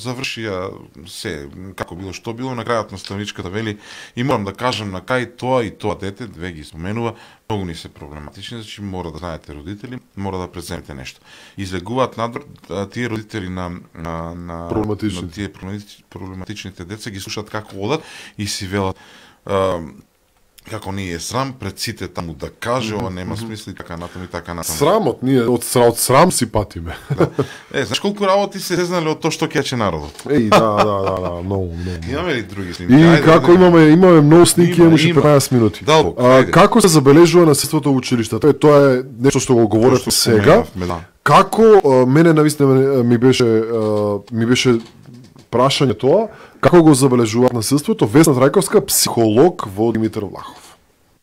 завршија се, како било, што било, на крајот наставничката, вели, и морам да кажам на кај тоа и тоа дете, две ги споменува, многу ни се проблематични, значи мора да знаете родители, мора да преземете нешто. Излегуваат надвор тие родители на тие проблематичните деца, ги слушаат како одат и си велат како ни е срам пред сите таму да каже, ова нема смисла и така натаму и така натаму. Срамот, ние од срам си патиме. Знаеш колку работи се сезнале од тоа што кеќе народот? Да, многу. Имаме ли други снимки? И како имаме многу снимки, имаше 15 минути. Како се забележува насилството во училиштата? Тоа е нешто што го говорите сега. Како мене навистина ми беше прашање тоа, како го забележуваат насилството? Весна Трајковска, психолог во Димитар Влахов.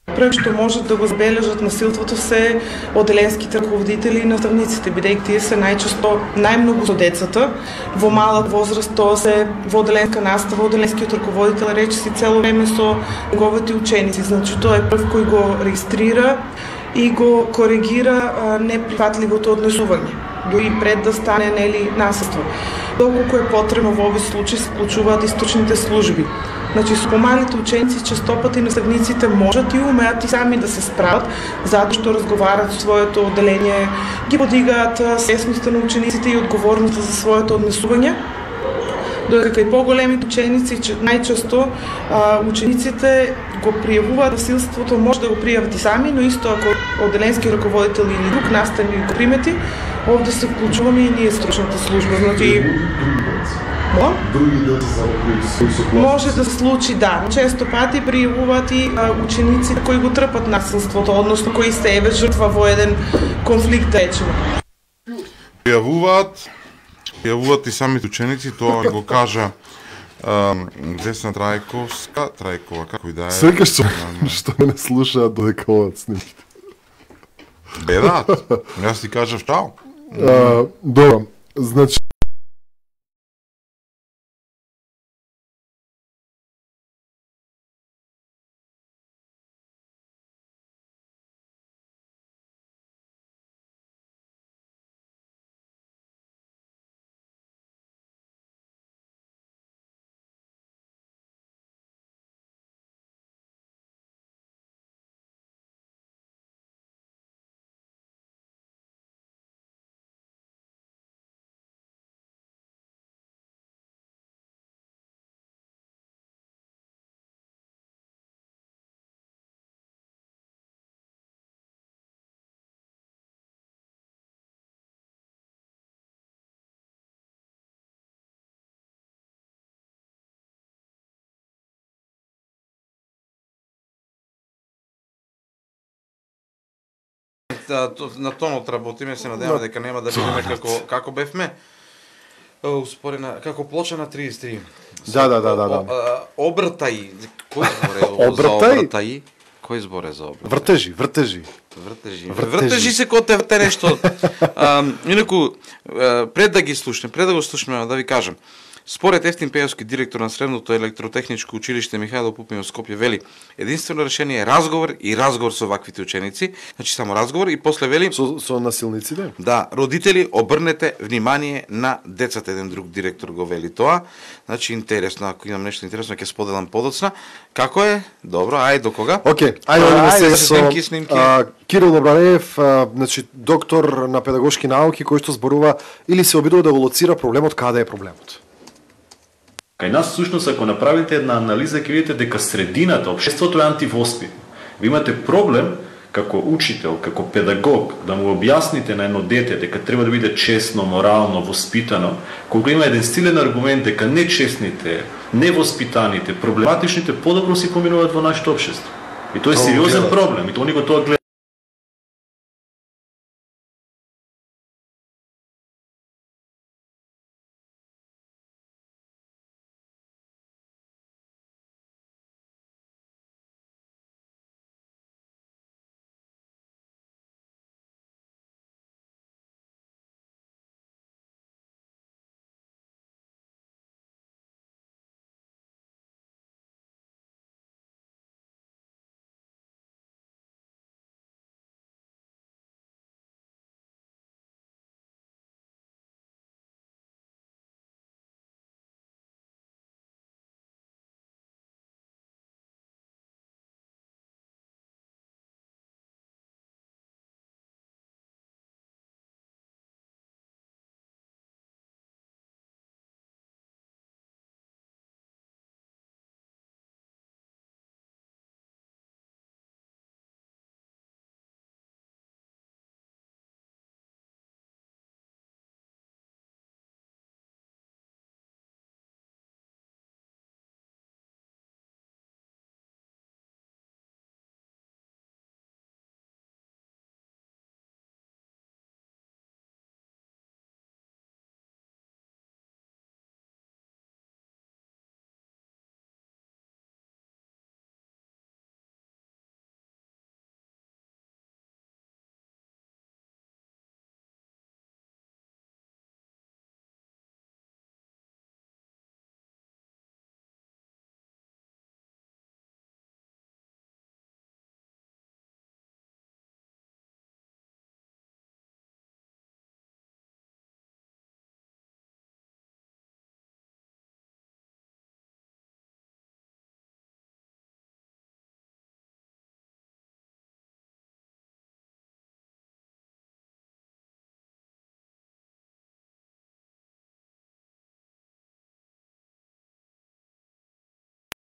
Прво што можат да го забележат насилството се оделенските раководители и наставниците, бидејќи тие се најчесто најмногу со децата. Во малак возраст тоа се во оделенска настава, оделенскиот раководител речиси цело време со неговите ученици. Значи тоа е прв кој го регистрира и го коригира неприфатливото однесување, дури пред да стане насилство. Доколку е потребно во овој случај се вклучуваат источните служби. Значи, со помалите ученици честопати наставниците можат и умеат и сами да се справат, затоа што разговарат со своето одделение, ги подигаат свесноста на учениците и одговорноста за своето однесување. Додека и поголемите ученици, најчесто учениците го пријавуваат насилството, може да го пријават и сами, но исто ако одделенски раководител или друг наставник го примети, овде се вклучуваме и ние стручната служба. Значи, други деца кои се може да се случи, да. Често пати пријавуваат и ученици кои го трпат насилството, односно кои се еве жртва во еден конфликт, речеме. Пријавуваат и самите ученици, тоа го кажа Весна Трајкова, како и да е. Секаш што не слушаат додека одат снимките. Бедаат. Јас ти кажав чао. Добро, значи на тонот работиме, се надеваме дека нема да бидеме како бевме. Успорена како плоча на 33. Да. Обртај. Кој збор е за обртај? Кој збор е за обртај? Вртежи се кога те нешто. Инаку пред да го слушнеме, да ви кажам. Според Ефтин Пејовски, директор на Средното електротехничко училиште Михајло Пупин во Скопје, вели: единствено решение е разговор со ваквите ученици, значи само разговор, и после вели со насилниците. Да, родители, обрнете внимание на децата. Еден друг директор го вели тоа. Значи интересно, ако имам нешто интересно ќе споделам подоцна. Како е? Добро, ајде до кога? Океј, ајде снимки. Кирил Барбареев, значи доктор на педагошки науки, кој што зборува или се обидува да го лоцира проблемот, каде е проблемот. Кај нас, всушност, ако направите една анализа, ќе видите дека средината, општеството е антивоспитно. Ви имате проблем како учител, како педагог, да му објасните на едно дете дека треба да биде честно, морално, воспитано, кога има еден стилен аргумент дека нечестните, невоспитаните, проблематичните подобро си поминуваат во нашето општество. И тоа е сериозен проблем, и тоа никој тоа гледа.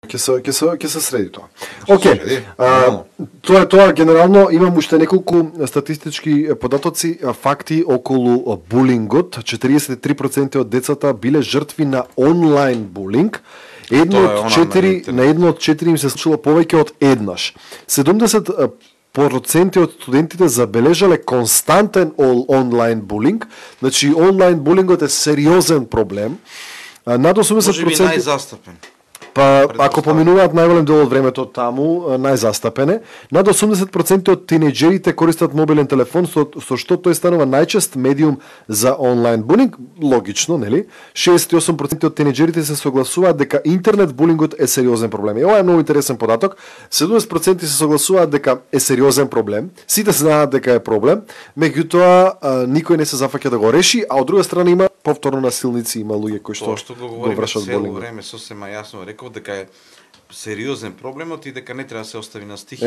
Ќе се среди тоа. Океј. Тоа генерално имам уште неколку статистички податоци, факти околу булингот. 43% од децата биле жртви на онлайн булинг. На едно од 4 им се случило повеќе од еднаш. 70% од студентите забележале константен онлайн булинг. Значи онлайн булингот е сериозен проблем. Над 80% можеби најзастапен. Па, ако поминуваат најголем дел од времето таму, најзастапене, над 80% од тинејџерите користат мобилен телефон, со што тој станува најчест медиум за онлайн булинг. Логично, нели? 68% од тинејџерите се согласуваат дека интернет булингот е сериозен проблем. И ова е многу интересен податок. 70% се согласуваат дека е сериозен проблем. Сите знаат дека е проблем, меѓутоа никој не се зафаќа да го реши, а од друга страна има повторно насилници, има луѓе кои што го вршат булинг. Тоа време сосема јасно рекол дека е сериозен проблемот и дека не треба да се остави на стихи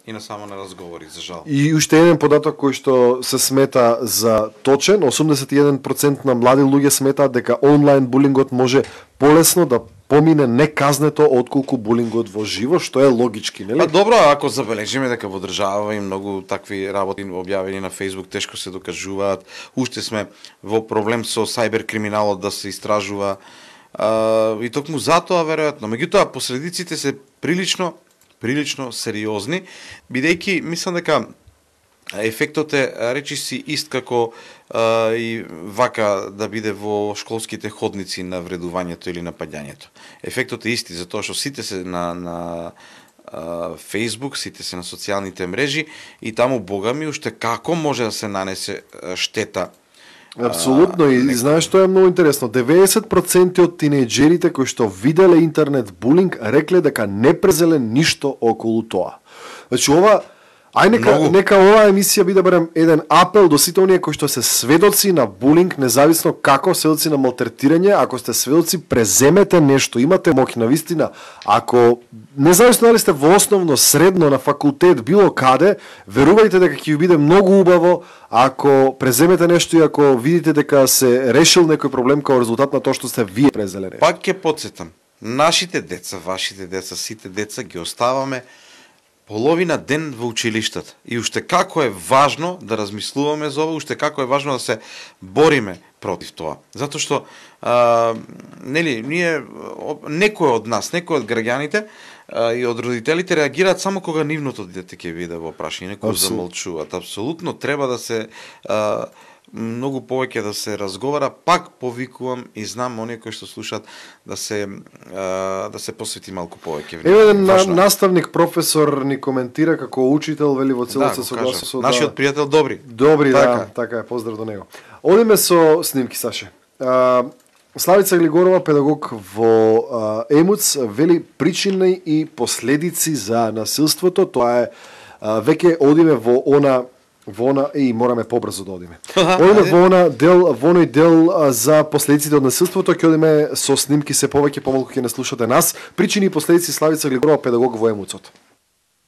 и на само на разговори, за жал. И уште еден податок кој што се смета за точен, 81% на млади луѓе сметаат дека онлайн булингот може полесно да помине неказнето отколку булингот во живо, што е логички, нели? Па добро, ако забележиме дека во држава и многу такви работи објавени на Facebook тешко се докажуваат, уште сме во проблем со сајбер криминалот да се истражува. И токму затоа веројатно, меѓутоа последиците се прилично сериозни, бидејќи мислам дека ефектот е речиси ист како и вака да биде во школските ходници на вредувањето или на паѓањето. Ефектот е исти, затоа што сите се на Facebook, сите се на социјалните мрежи и таму, бога ми, уште како може да се нанесе штета. Апсолутно, и знаеш што е многу интересно, 90% од тинејџерите кои што виделе интернет булинг рекле дека не презеле ништо околу тоа. Значи ова нека оваа емисија биде барем еден апел до сите оние кои што се сведоци на булинг, независно како сведоци на малтретирање, ако сте сведоци, преземете нешто, имате моќ навистина. Ако независно дали сте во основно, средно, на факултет, било каде, верувајте дека ќе ви биде многу убаво ако преземете нешто и ако видите дека се решил некој проблем како резултат на тоа што сте вие презеле нешто. Пак ќе потсетам, нашите деца, вашите деца, сите деца ги оставаме половина ден во училиштата. И уште како е важно да размислуваме за ова, уште како е важно да се бориме против тоа. Затоа што некој од нас, некој од граѓаните и од родителите реагираат само кога нивното дете ќе биде во прашање, некој замолчуваат. Апсолутно треба да се многу повеќе да се разговара, пак повикувам и знам оние кои што слушаат да се посвети малку повеќе внимание. Еве наставник професор ни коментира како учител, вели во целост се согласува со нашиот пријател Добри. Добри, така е, поздрав до него. Одиме со снимки, Саше. Славица Глигорова, педагог во ЕМУЦ, вели причини и последици за насилството. Тоа е веќе одиме во она и мораме побрзо да одиме. Одиме во оној дел за последиците од насилството, ќе одиме со снимки се повеќе, помалку ќе не слушате нас. Причини и последици, Славица Глигорова, педагог во ЕМУЦ-от.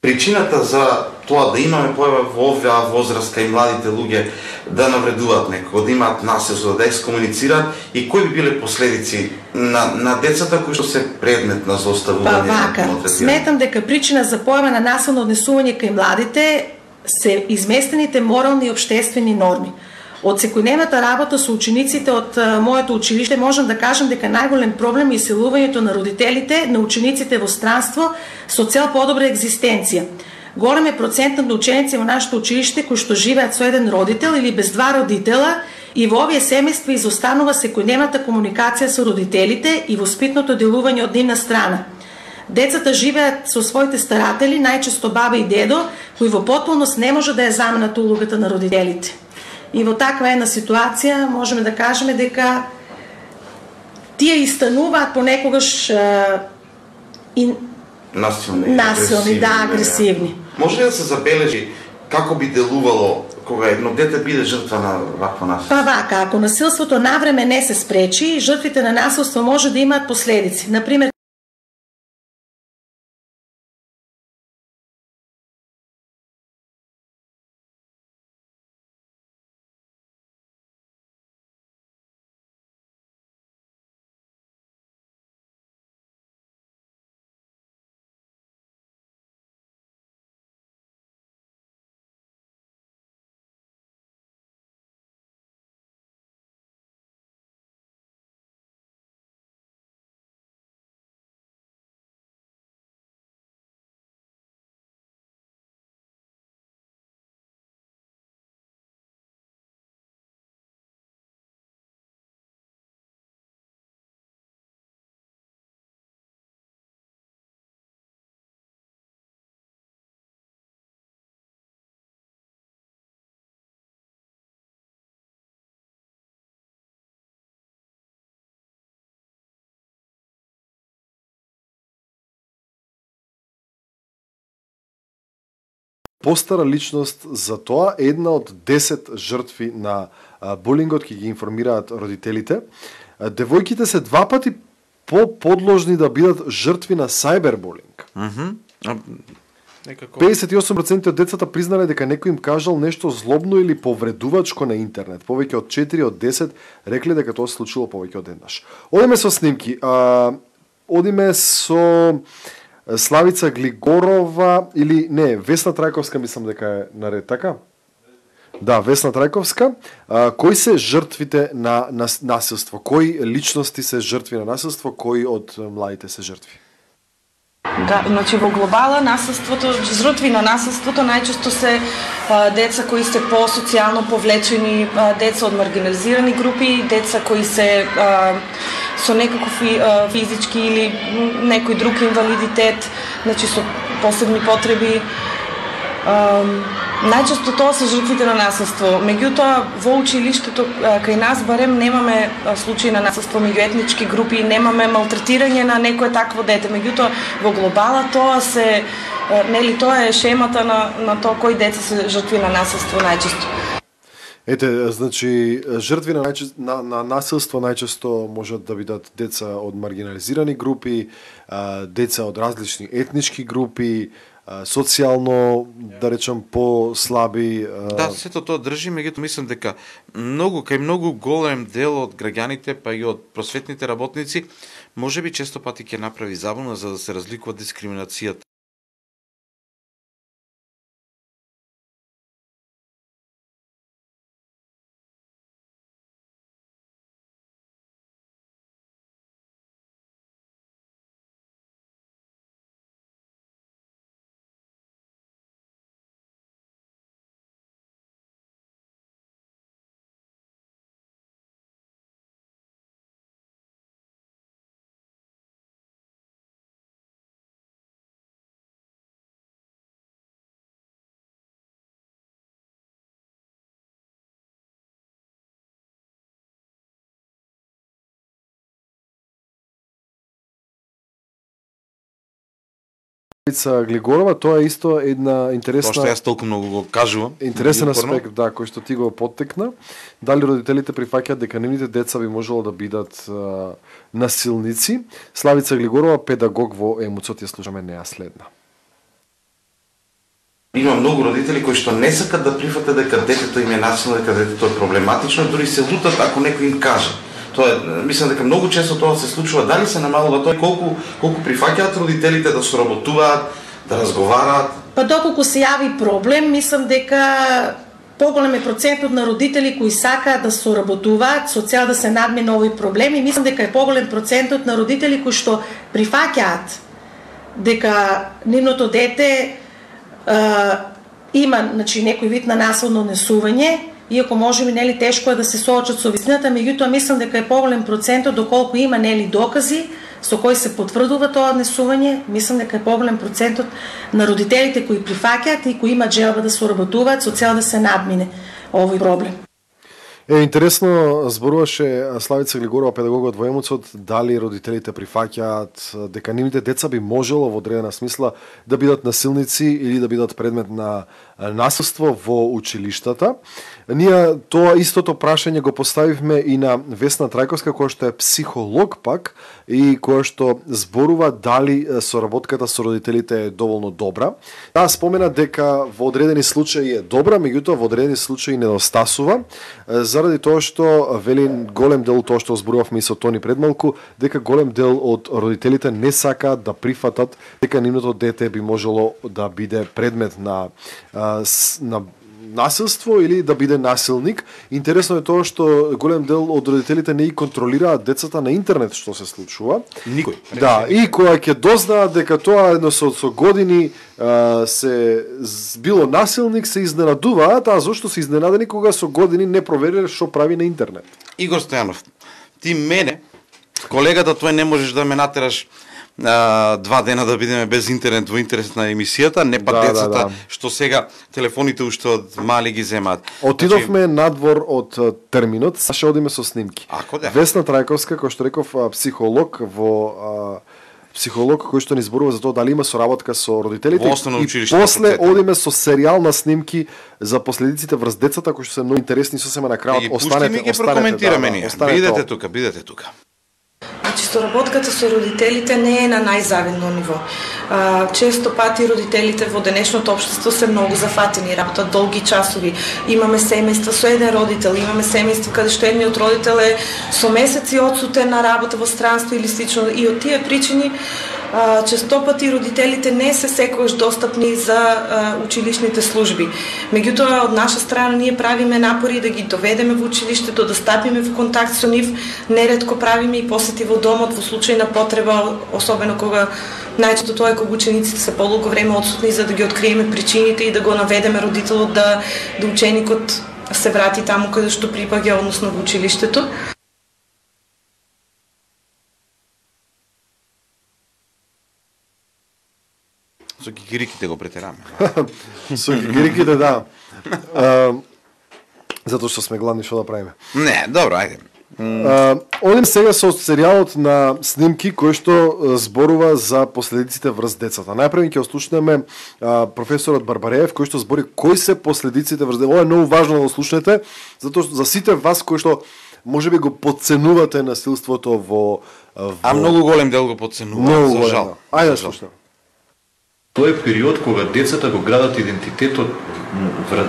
Причината за тоа да имаме појава во оваа возраст кај младите луѓе да навредуваат некој, да имаат насилство, да екскомуницираат и кои би биле последици на децата кои што се предмет на злоставување? Сметам дека причина за појава на насилно однесување кај младите се изместените морални и обштествени норми. Од секојдневната работа со учениците од моето училиште можам да кажам дека најголем проблем е иселувањето на родителите на учениците во странство со цел подобра екзистенција. Голем е процентот на ученици во нашето училиште кои што живеат со еден родител или без два родитела и во овие семејства изостанува секојдневната комуникација со родителите и воспитното делување од нивна страна. Децата живеат со своите старатели, најчесто баба и дедо, кои во потполност не може да ја заменат улогата на родителите. И во таква една ситуација можеме да кажеме дека тие истануваат понекогаш насилни, агресивни. Може ли да се забележи како би делувало кога едно дете биде жртва на вакво насилство? Па вака, ако насилството навреме не се спречи, жртвите на насилство може да имаат последици. Например, постара личност за тоа, една од 10 жртви на булингот ќе ги информираат родителите. Девојките се 2 пати по-подложни да бидат жртви на сајбербулинг. 58% од децата признале дека некој им кажал нешто злобно или повредувачко на интернет. Повеќе од 4 од 10 рекле дека тоа се случило повеќе од еднаш. Одиме со снимки. Одиме со Славица Глигорова или не, Весна Трајковска, мислам дека е наред, така? Да, Весна Трајковска. Кои се жртвите на насилство? Кои личности се жртви на насилство? Кои од младите се жртви? Да, значи во глобала насилството, жртви на насилството најчесто се деца кои се по-социјално повлечени, деца од маргинализирани групи, деца кои се со некаков физички или некој друг инвалидитет, значи со посебни потреби. Најчесто тоа се жртвите на насилство. Меѓутоа, во училиштето, кај нас барем немаме случаи на насилство меѓу етнички групи, немаме малтретирање на некое такво дете. Меѓутоа, во глобала тоа се, нели, тоа е шемата на тоа кои деца се жртви на насилство најчесто. Ете, значи, жртви на насилство најчесто можат да бидат деца од маргинализирани групи, деца од различни етнички групи, социјално, да речем, по-слаби. Да, сето тоа држи, меѓутоа мислам дека кај многу голем дел од граѓаните, па и од просветните работници, можеби често пати ќе направи забуна за да се разликува дискриминацијата. Глигорова, тоа е исто една интересна... Тоа што јас толку многу го кажувам. Интересен аспект, да, кој што ти го поттекна. Дали родителите прифаќаат дека нивните деца би можело да бидат насилници? Славица Глигорова, педагог во Емуцот, ја слушаме неа следна. Има многу родители кои што не сакат да прифатат дека детето им е насилно, дека детето е проблематично, дури се лутат ако некој им каже. Тоа е, мислам дека многу често тоа се случува. Дали се намалува тоа, колку прифаќаат родителите да соработуваат, да разговараат? Па доколку се јави проблем, мислам дека поголем е процентот на родители кои сакаат да соработуваат со цел да се надмине овој проблем, и мислам дека е поголем процентот на родители кои што прифаќаат дека нивното дете има, значи, некој вид на насилно однесување, иако можеби, нели, тешко е да се соочат со вистината, меѓутоа мислам дека е поголем процентот доколку има, нели, докази со кои се потврдува тоа однесување, мислам дека е поголем процентот на родителите кои прифаќаат и кои имаат желба да соработуваат со цел да се надмине овој проблем. Интересно зборуваше Славица Глигорова, педагогот во Емуцот, дали родителите прифаќаат дека нивните деца би можело во одредена смисла да бидат насилници или да бидат предмет на насилство во училиштата. Ние тоа истото прашање го поставивме и на Весна Трајковска, која што е психолог пак и која што зборува дали соработката со родителите е доволно добра. Таа спомена дека во одредени случаи е добра, меѓутоа во одредени случаи недостасува, заради тоа што вели голем дел тоа што зборувавме и со Тони предмалку, дека голем дел од родителите не сакаат да прифатат дека нивното дете би можело да биде предмет на насилство или да биде насилник. Интересно е тоа што голем дел од родителите не ги контролираат децата на интернет што се случува. Никој. Да, и кога ќе дознаат дека тоа едно со години се било насилник, се изненадуваат, а зошто се изненадени кога со години не провериле што прави на интернет. Игор Стојанов, ти мене, колегата тој не можеш да ме натераш 2 дена да бидеме без интернет во интерес на емисијата, не па децата што сега телефоните уште од мали ги земаат. Отидовме надвор од терминот, саше одиме со снимки. Весна Трајковска, кој што реков, психолог кој што ни зборува за тоа дали има соработка со родителите, и после одиме со серијал на снимки за последиците врз децата кои што се многу интересни, сосема на крајот останете. Бидете тука. Значи, соработката со родителите не е на најзавидно ниво. Често пати родителите во денешното општество се многу зафатени, работат долги часови. Имаме семејства со еден родител, имаме семејства каде што едниот родител е со месеци одсутен на работа во странство или слично. И од тие причини често пати родителите не се секогаш достапни за училишните служби. Меѓутоа, од наша страна ние правиме напори да ги доведеме во училиштето, да стапиме во контакт со нив, неретко правиме и посети во домот во случај на потреба, особено кога најчесто тоа е кога учениците се подолго време отсутни, за да ги откриеме причините и да го наведеме родителот да ученикот се врати таму каде што припаѓа, односно во училиштето. Со гигириките го претераме. Со гигириките, да. Затоа што сме гладни, што да правиме? Не, добро, ајде. Одим сега со серијалот на снимки кој што зборува за последиците врз децата. Најпрво ќе ослушнеме професорот Барбареев кој што збори кои се последиците врз децата. Ова е многу важно да го слушнете, затоа што за сите вас кои што можеби го подценувате насилството во А многу голем дел го подценуваат, за жал. Ајде да слушнеме. Тоа е период кога децата го градат идентитетот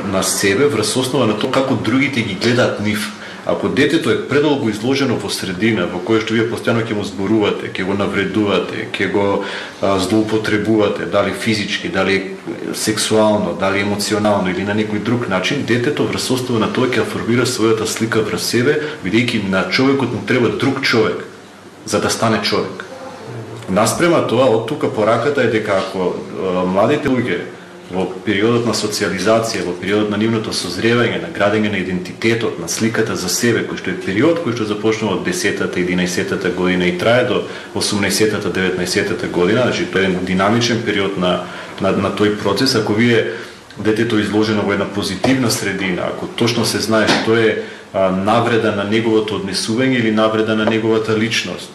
на себе врз основа на тоа како другите ги гледаат нив. Ако детето е предолго изложено во средина во која што вие постојано ќе му зборувате, ќе го навредувате, ќе го злоупотребувате, дали физички, дали сексуално, дали емоционално или на некој друг начин, детето врз основа на тоа ќе формира својата слика врз себе, бидејќи на човекот му треба друг човек за да стане човек. Наспрема тоа, од тука пораката е дека ако младите луѓе во периодот на социализација, во периодот на нивното созревање, на градење на идентитетот, на сликата за себе, кој што е период кој што започнува од 10-та, 11-та година и трае до 18-та, 19-та година, значи тоа е динамичен период на тој процес. Ако вие детето изложено во една позитивна средина, ако точно се знае што е навреда на неговото однесување или навреда на неговата личност.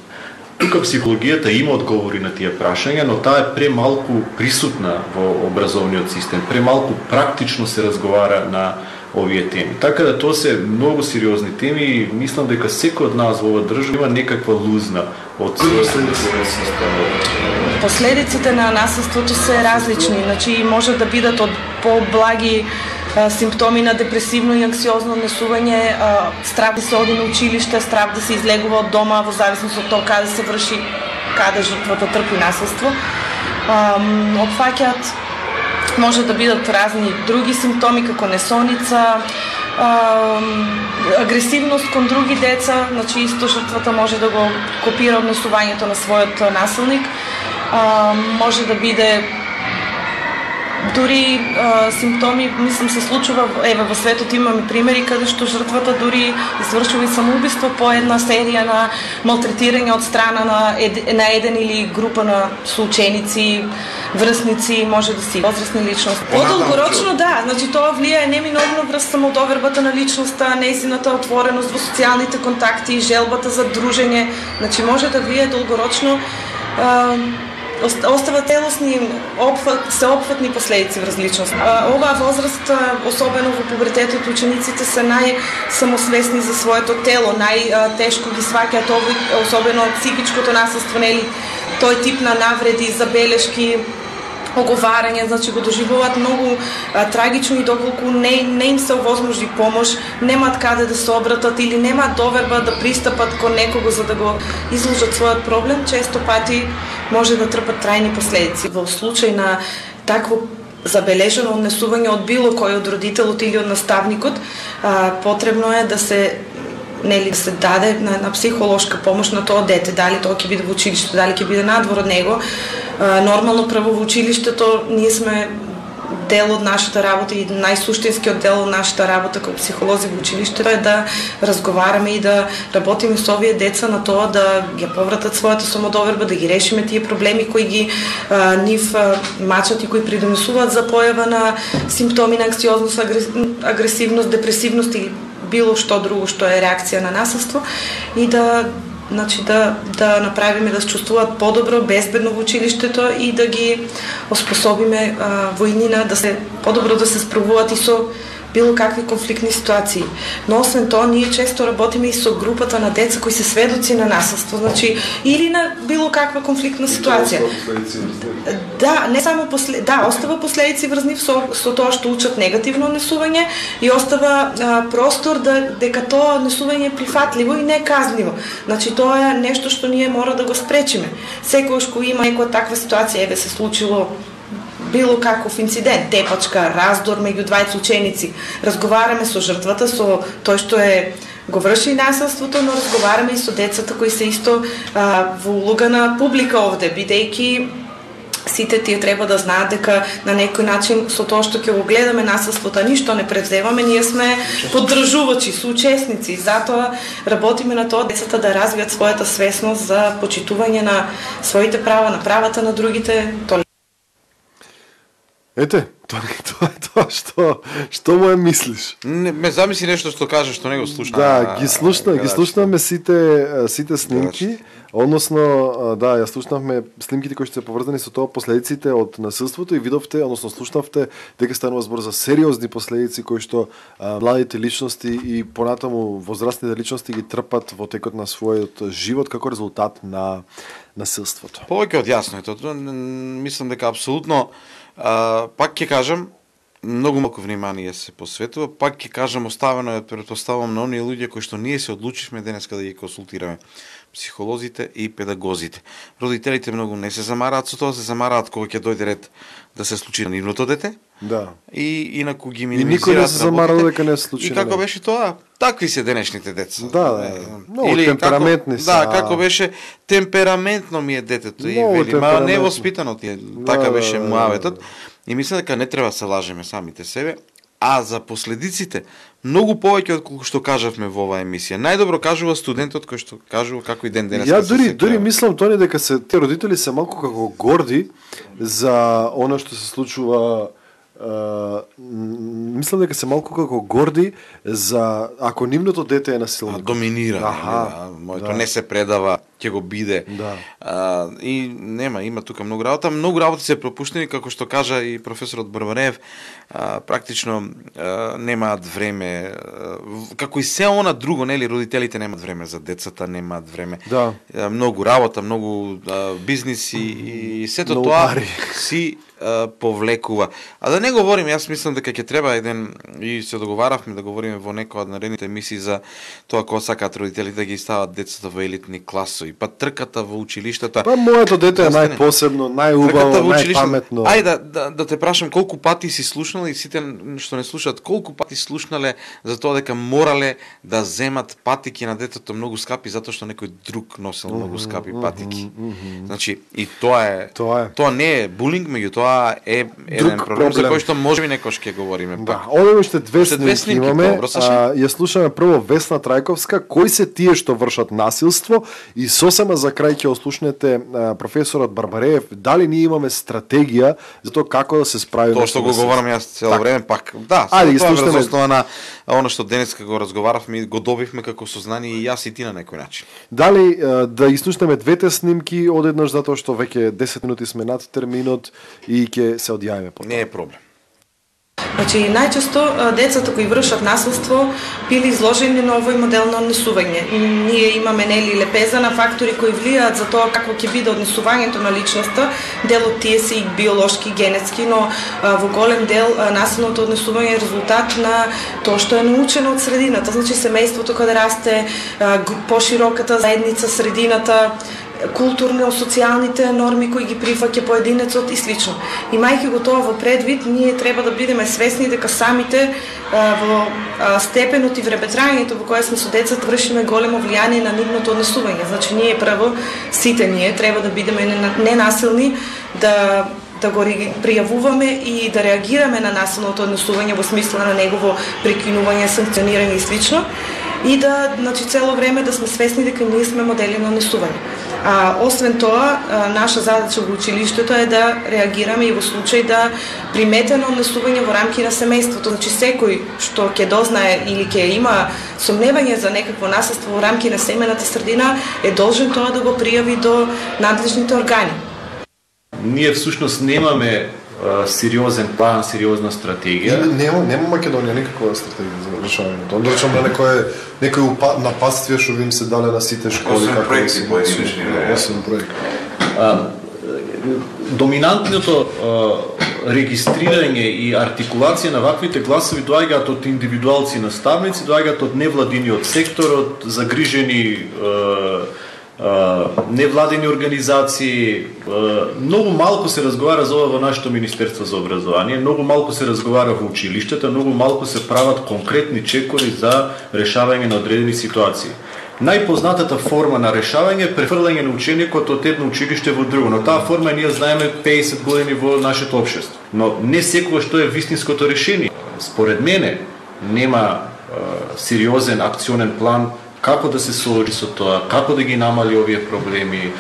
Тука психологијата има одговори на тие прашања, но таа е премалку присутна во образовниот систем, премалку практично се разговара на овие теми. Така да тоа се многу сериозни теми и мислам дека секој од нас во оваа држава има некаква лузна од системот. Последиците на насилството се различни, значи може да бидат од поблаги симптоми на депресивно и анксиозно однесување, страв да се оди на училиште, страв да се излегува од дома во зависност од тоа каде се врши, каде жртвата трпи насилство. Опфаќаат може да бидат разни други симптоми како несоница, агресивност кон други деца, значи исто жртвата може да го копира однесувањето на својот насилник. Може да биде дури симптоми, мислам, се случува, еве во светот имаме примери каде што жртвата дури извршува и самоубиство по една серија на малтретирање од страна на еден или група на соученици, врсници, може да си возрастни личности. Подолгорочно да, значи тоа влијае неминовно врз самодовербата на личноста, нејзината отвореност во социјалните контакти, желбата за дружење, значи може да влијае долгорочно, остава целосни, сеопфатни последици врз личност. Оваа возраст, особено во пубертетот, учениците се најсамосвесни за своето тело, најтешко ги сваќаат особено психичкото насилство, нели, тој тип на навреди, забелешки, оговарање, значи го доживуваат многу трагично и доколку не им се овозможи помош, немаат каде да се обратат или немаат доверба да пристапат кон некого за да го изложат својот проблем, често пати може да трпат трајни последици. Во случај на такво забележено однесување од било кој од родителот или од наставникот, потребно е да се да се даде на психолошка помош на тоа дете, дали тоа ќе биде во училиште, дали ќе биде надвор од него. Нормално право во училиштето ние сме дел од нашата работа и најсуштинскиот дел од нашата работа како психолози во училиштето е да разговараме и да работиме со овие деца на тоа да ги повратат својата самодоверба, да ги решиме тие проблеми кои ги нив мачат и кои придонесуваат за појава на симптоми на анксиозност, агресивност, депресивност или било што друго што е реакција на насилство и да направиме да се чувствуваат подобро, безбедно во училиштето и да ги оспособиме во иднина да се подобро да се справуваат и со било какви конфликтни ситуации. Но освен тоа, ние често работиме и со групата на деца кои се сведоци на насилство, значи или на било каква конфликтна ситуација. Да, не само остава последици врзни со тоа што учат негативно однесување и остава простор дека тоа однесување е прифатливо и не казливо. Значи тоа е нешто што ние мора да го спречиме. Секогаш кога има некоја таква ситуација, еве се случило било каков инцидент, тепачка, раздор меѓу двајца ученици, разговараме со жртвата, со тој што го врши насилството, но разговараме и со децата кои се исто во улога на публика овде, бидејќи сите тие треба да знаат дека на некој начин со тоа што ќе го гледаме насилството, ништо не превземаме, ние сме поддржувачи, соучесници, затоа работиме на тоа децата да развијат својата свесност за почитување на своите права, на правата на другите. Ете, тоа што му е мислиш? Не, ме замисли нешто што кажеш, што не го слушна. Да, ги слушнаме сите снимки, односно, да, ја слушнавме снимките кои што се поврзани со тоа последиците од насилството и видовте, односно слушнавте дека станува збор за сериозни последици кои што младите личности и понатаму возрастните личности ги трпат во текот на својот живот како резултат на насилството. Повеќе од јасно е тоа. Мислам дека апсолутно пак ќе кажам, многу малку внимание се посветува, пак ќе кажам, оставено е претпоставам на оние луѓе кои што ние се одлучивме денеска да ги консултираме, психолозите и педагозите. Родителите многу не се замараат со тоа, се замараат кога ќе дојде ред да се случи на нивното дете. Да. И инаку ги минимизираат. И никој не се замарал дека не се случи. И како беше тоа? Такви се денешните деца. Да. Много темпераментни се. Да, како беше темпераментно ми е детето и вели, ма невоспитано ти е. Така беше муаветот. И мислам дека не треба да се лажеме самите себе. А за последиците, многу повеќе од колку што кажавме во оваа емисија. Најдобро кажува студентот кој што кажува како и ден денес. Ја дури мислам Тони дека те родители се малку како горди за она што се случува. Мислам дека се малку како горди за ако нивното дете е насилник. Доминира. Моето не се предава, ќе го биде. И има тука многу работа. Многу работи се пропуштени, како што кажа и професорот Барбареев, практично немаат време, како и се она друго, нели, родителите немаат време за децата, немаат време. Да. Многу работа, многу бизниси и сето тоа си повлекува. А да не говорим, јас мислам дека ќе треба еден, и се договаравме да говориме во некоја од наредните емисии за тоа кога сакаат родителите да ги стават децата во елитни класови, па трката во училиштата. Па моето дете е најпосебно, најубаво, најпаметно. Ајде да те прашам колку пати си слушнал и сите што не слушаат, колку пати слушнале за тоа дека морале да земат патики на детето многу скапи затоа што некој друг носел многу скапи патики. Значи и тоа не е булинг, меѓутоа е еден проблем за кој што можеби некош ќе говориме пак. Да, овде уште две снимки имаме. Ја слушаме прво Весна Трајковска, кои се тие што вршат насилство, и сосема за крај ќе ослушнете професорот Барбареев дали ние имаме стратегија за тоа како да се справиме. Тоа што го говорам јас цело време пак. Да, тоа е врз основа на она што денеска го разговаравме и го добивме како сознание и јас и ти на некој начин. Дали да изслушнеме двете снимки одеднаш затоа што веќе 10 минути сме над терминот и ќе се одјавиме по тоа. Не е проблем. Значи, најчесто децата кои вршат насилство били изложени на овој модел на однесување. Ние имаме лепеза на фактори кои влијаат за тоа какво ќе биде однесувањето на личноста. Дел од тие се и биолошки, генетски, но во голем дел насилното однесување е резултат на тоа што е научено од средината. Значи, семејството каде расте, пошироката заедница, средината, културно-социјалните норми кои ги прифаќа поединецот и слично. Имајќи го тоа во предвид, ние треба да бидеме свесни дека самите во степенот и времетрањето во кое сме со децата вршиме големо влијание на нивното однесување. Значи ние прво, сите ние треба да бидеме ненасилни, да го пријавуваме и да реагираме на насилното однесување во смисла на негово прекинување, санкционирање и слично, и да, значи, цело време да сме свесни дека ние сме модели на однесување. Освен тоа, наша задача во училиштето е да реагираме и во случај да приметено однесување во рамки на семејството. Значи секој што ќе дознае или ќе има сомневање за некакво насилство во рамки на семејната средина е должен тоа да го пријави до надлежните органи. Ние всушност немаме сериозен план, сериозна стратегија. Нема Македонија никаква стратегија за решавањето. Onda речам на некој нападствие што им се дале на сите школи како проекти поединечни. Доминантното регистрирање и артикулација на ваквите гласови доаѓаат од индивидуалци наставници, доаѓаат од невладиниот сектор, од загрижени невладени организации. Многу малку се разговара за ова во нашето Министерство за образование, многу малку се разговара во училиштата, многу малку се прават конкретни чекори за решавање на одредени ситуации. Најпознатата форма на решавање е префрлање на ученикот од едно училиште во друго, но таа форма ние знаеме 50 години во нашето општество. Но не секогаш што е вистинското решение. Според мене нема сериозен акционен план како да се соочи со тоа, како да ги намали овие проблеми.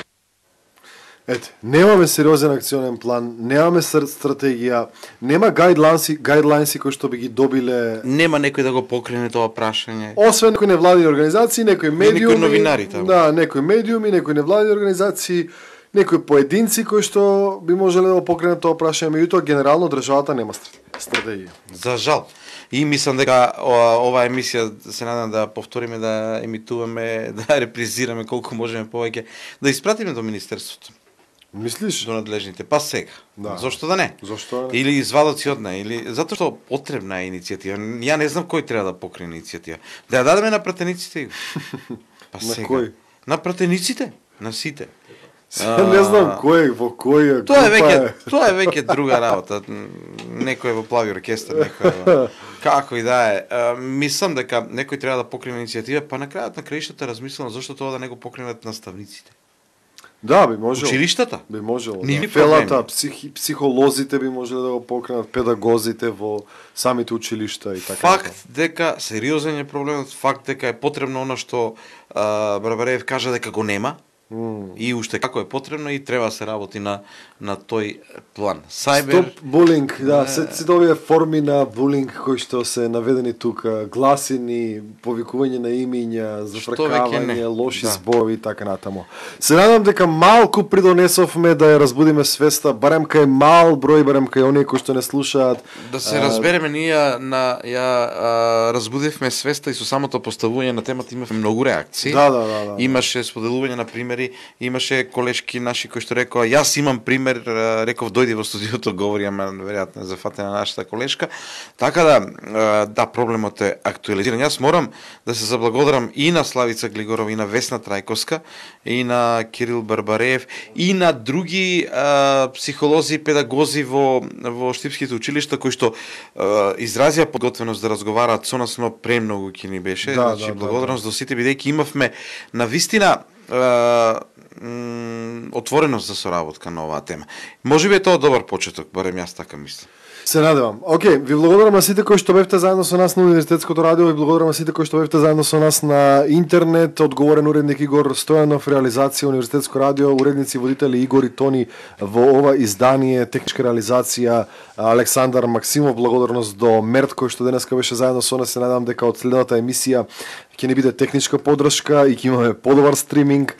Ете, немаме сериозен акционен план, немаме стратегија, нема гайдлайнси кои што би ги добиле. Нема некој да го покрене тоа прашање. Освен некои невладини организации, некои медиуми, некои новинари таму. Да, некои медиуми, некои невладини организации, некои поединци кои што би можеле да го покренат тоа прашање, меѓутоа генерално државата нема стратегија. За жал. И мислам дека оваа емисија се надам да повториме, да емитуваме, да репризираме колку можеме повеќе, да испратиме до министерството. Мислиш? До надлежните. Па сега. Да. Зошто да не? Зошто да не? Или извадоци од неа, или затоа што потребна е иницијатива. Ја не знам кој треба да покрине иницијатива. Да ја дадеме на пратениците. Па на сега. кој? На пратениците, на сите. Не знам кој, во кој Тоа е веќе друга работа. Некој во плави оркестар, некој како и да е. Мислам дека некој треба да покрине иницијатива, па на крајот на краиштата размислам зошто тоа да не го покренат наставниците. Да, би можело. Училиштата? Би можело. Да. Фелата, психолозите би можеле да го покренат, педагозите во самите училишта и така. Факт дека сериозен е проблемот, факт дека е потребно она што Барбареев кажа дека го нема. И уште како е потребно и треба се работи на тој план. Сайбер... Стоп булинг, да, сите овие форми на булинг кои што се наведени тука, гласини, повикување на имиња, зафркавање, лоши зборови и така натаму. Се надам дека малку придонесовме да ја разбудиме свеста, барем кај мал број, барем кај оние кои што не слушаат. Да се разбереме, ние разбудивме свеста и со самото поставување на темата имавме многу реакции. Да. Имаше споделување на примери, имаше колешки наши кои што рекоа, јас имам пример, реков дојди во студиото, говори, ама веројатно зафатена нашата колешка. Така да, проблемот е актуализиран. Јас морам да се заблагодарам и на Славица Глигорова, и на Весна Трајковска, и на Кирил Барбареев, и на други психолози и педагози во штипските училишта кои што изразија подготвеност да разговараат со нас, но премногу ќе ни беше. Значи, благодарност до сите, бидејќи имавме на вистина отвореност за соработка на оваа тема. Можеби е тоа добар почеток, барем јас така мислам. Се надевам. Океј, ви благодарам на сите кои што бевте заедно со нас на Универзитетското радио, ви благодарам на сите кои што бевте заедно со нас на интернет, одговорен уредник Игор Стојанов, реализација Универзитетско радио, уредници водители Игор и Тони во ова издание, техничка реализација Александар Максимов, благодарност до Мерт кој што денеска беше заедно со нас. Се надам дека од следната емисија ќе не биде техничка поддршка и ќе имаме подобар стриминг.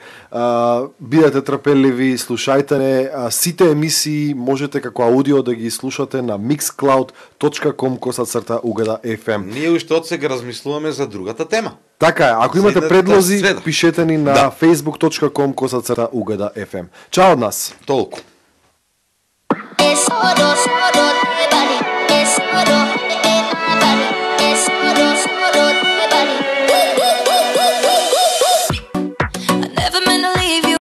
Бидете трпеливи, слушајте не. Сите емисии можете како аудио да ги слушате на mixcloud.com/UGDA-FM. Ние уште од сега размислуваме за другата тема. Така е, ако имате предлози, пишете ни на facebook.com/UGDA-FM. Чао од нас. Толку.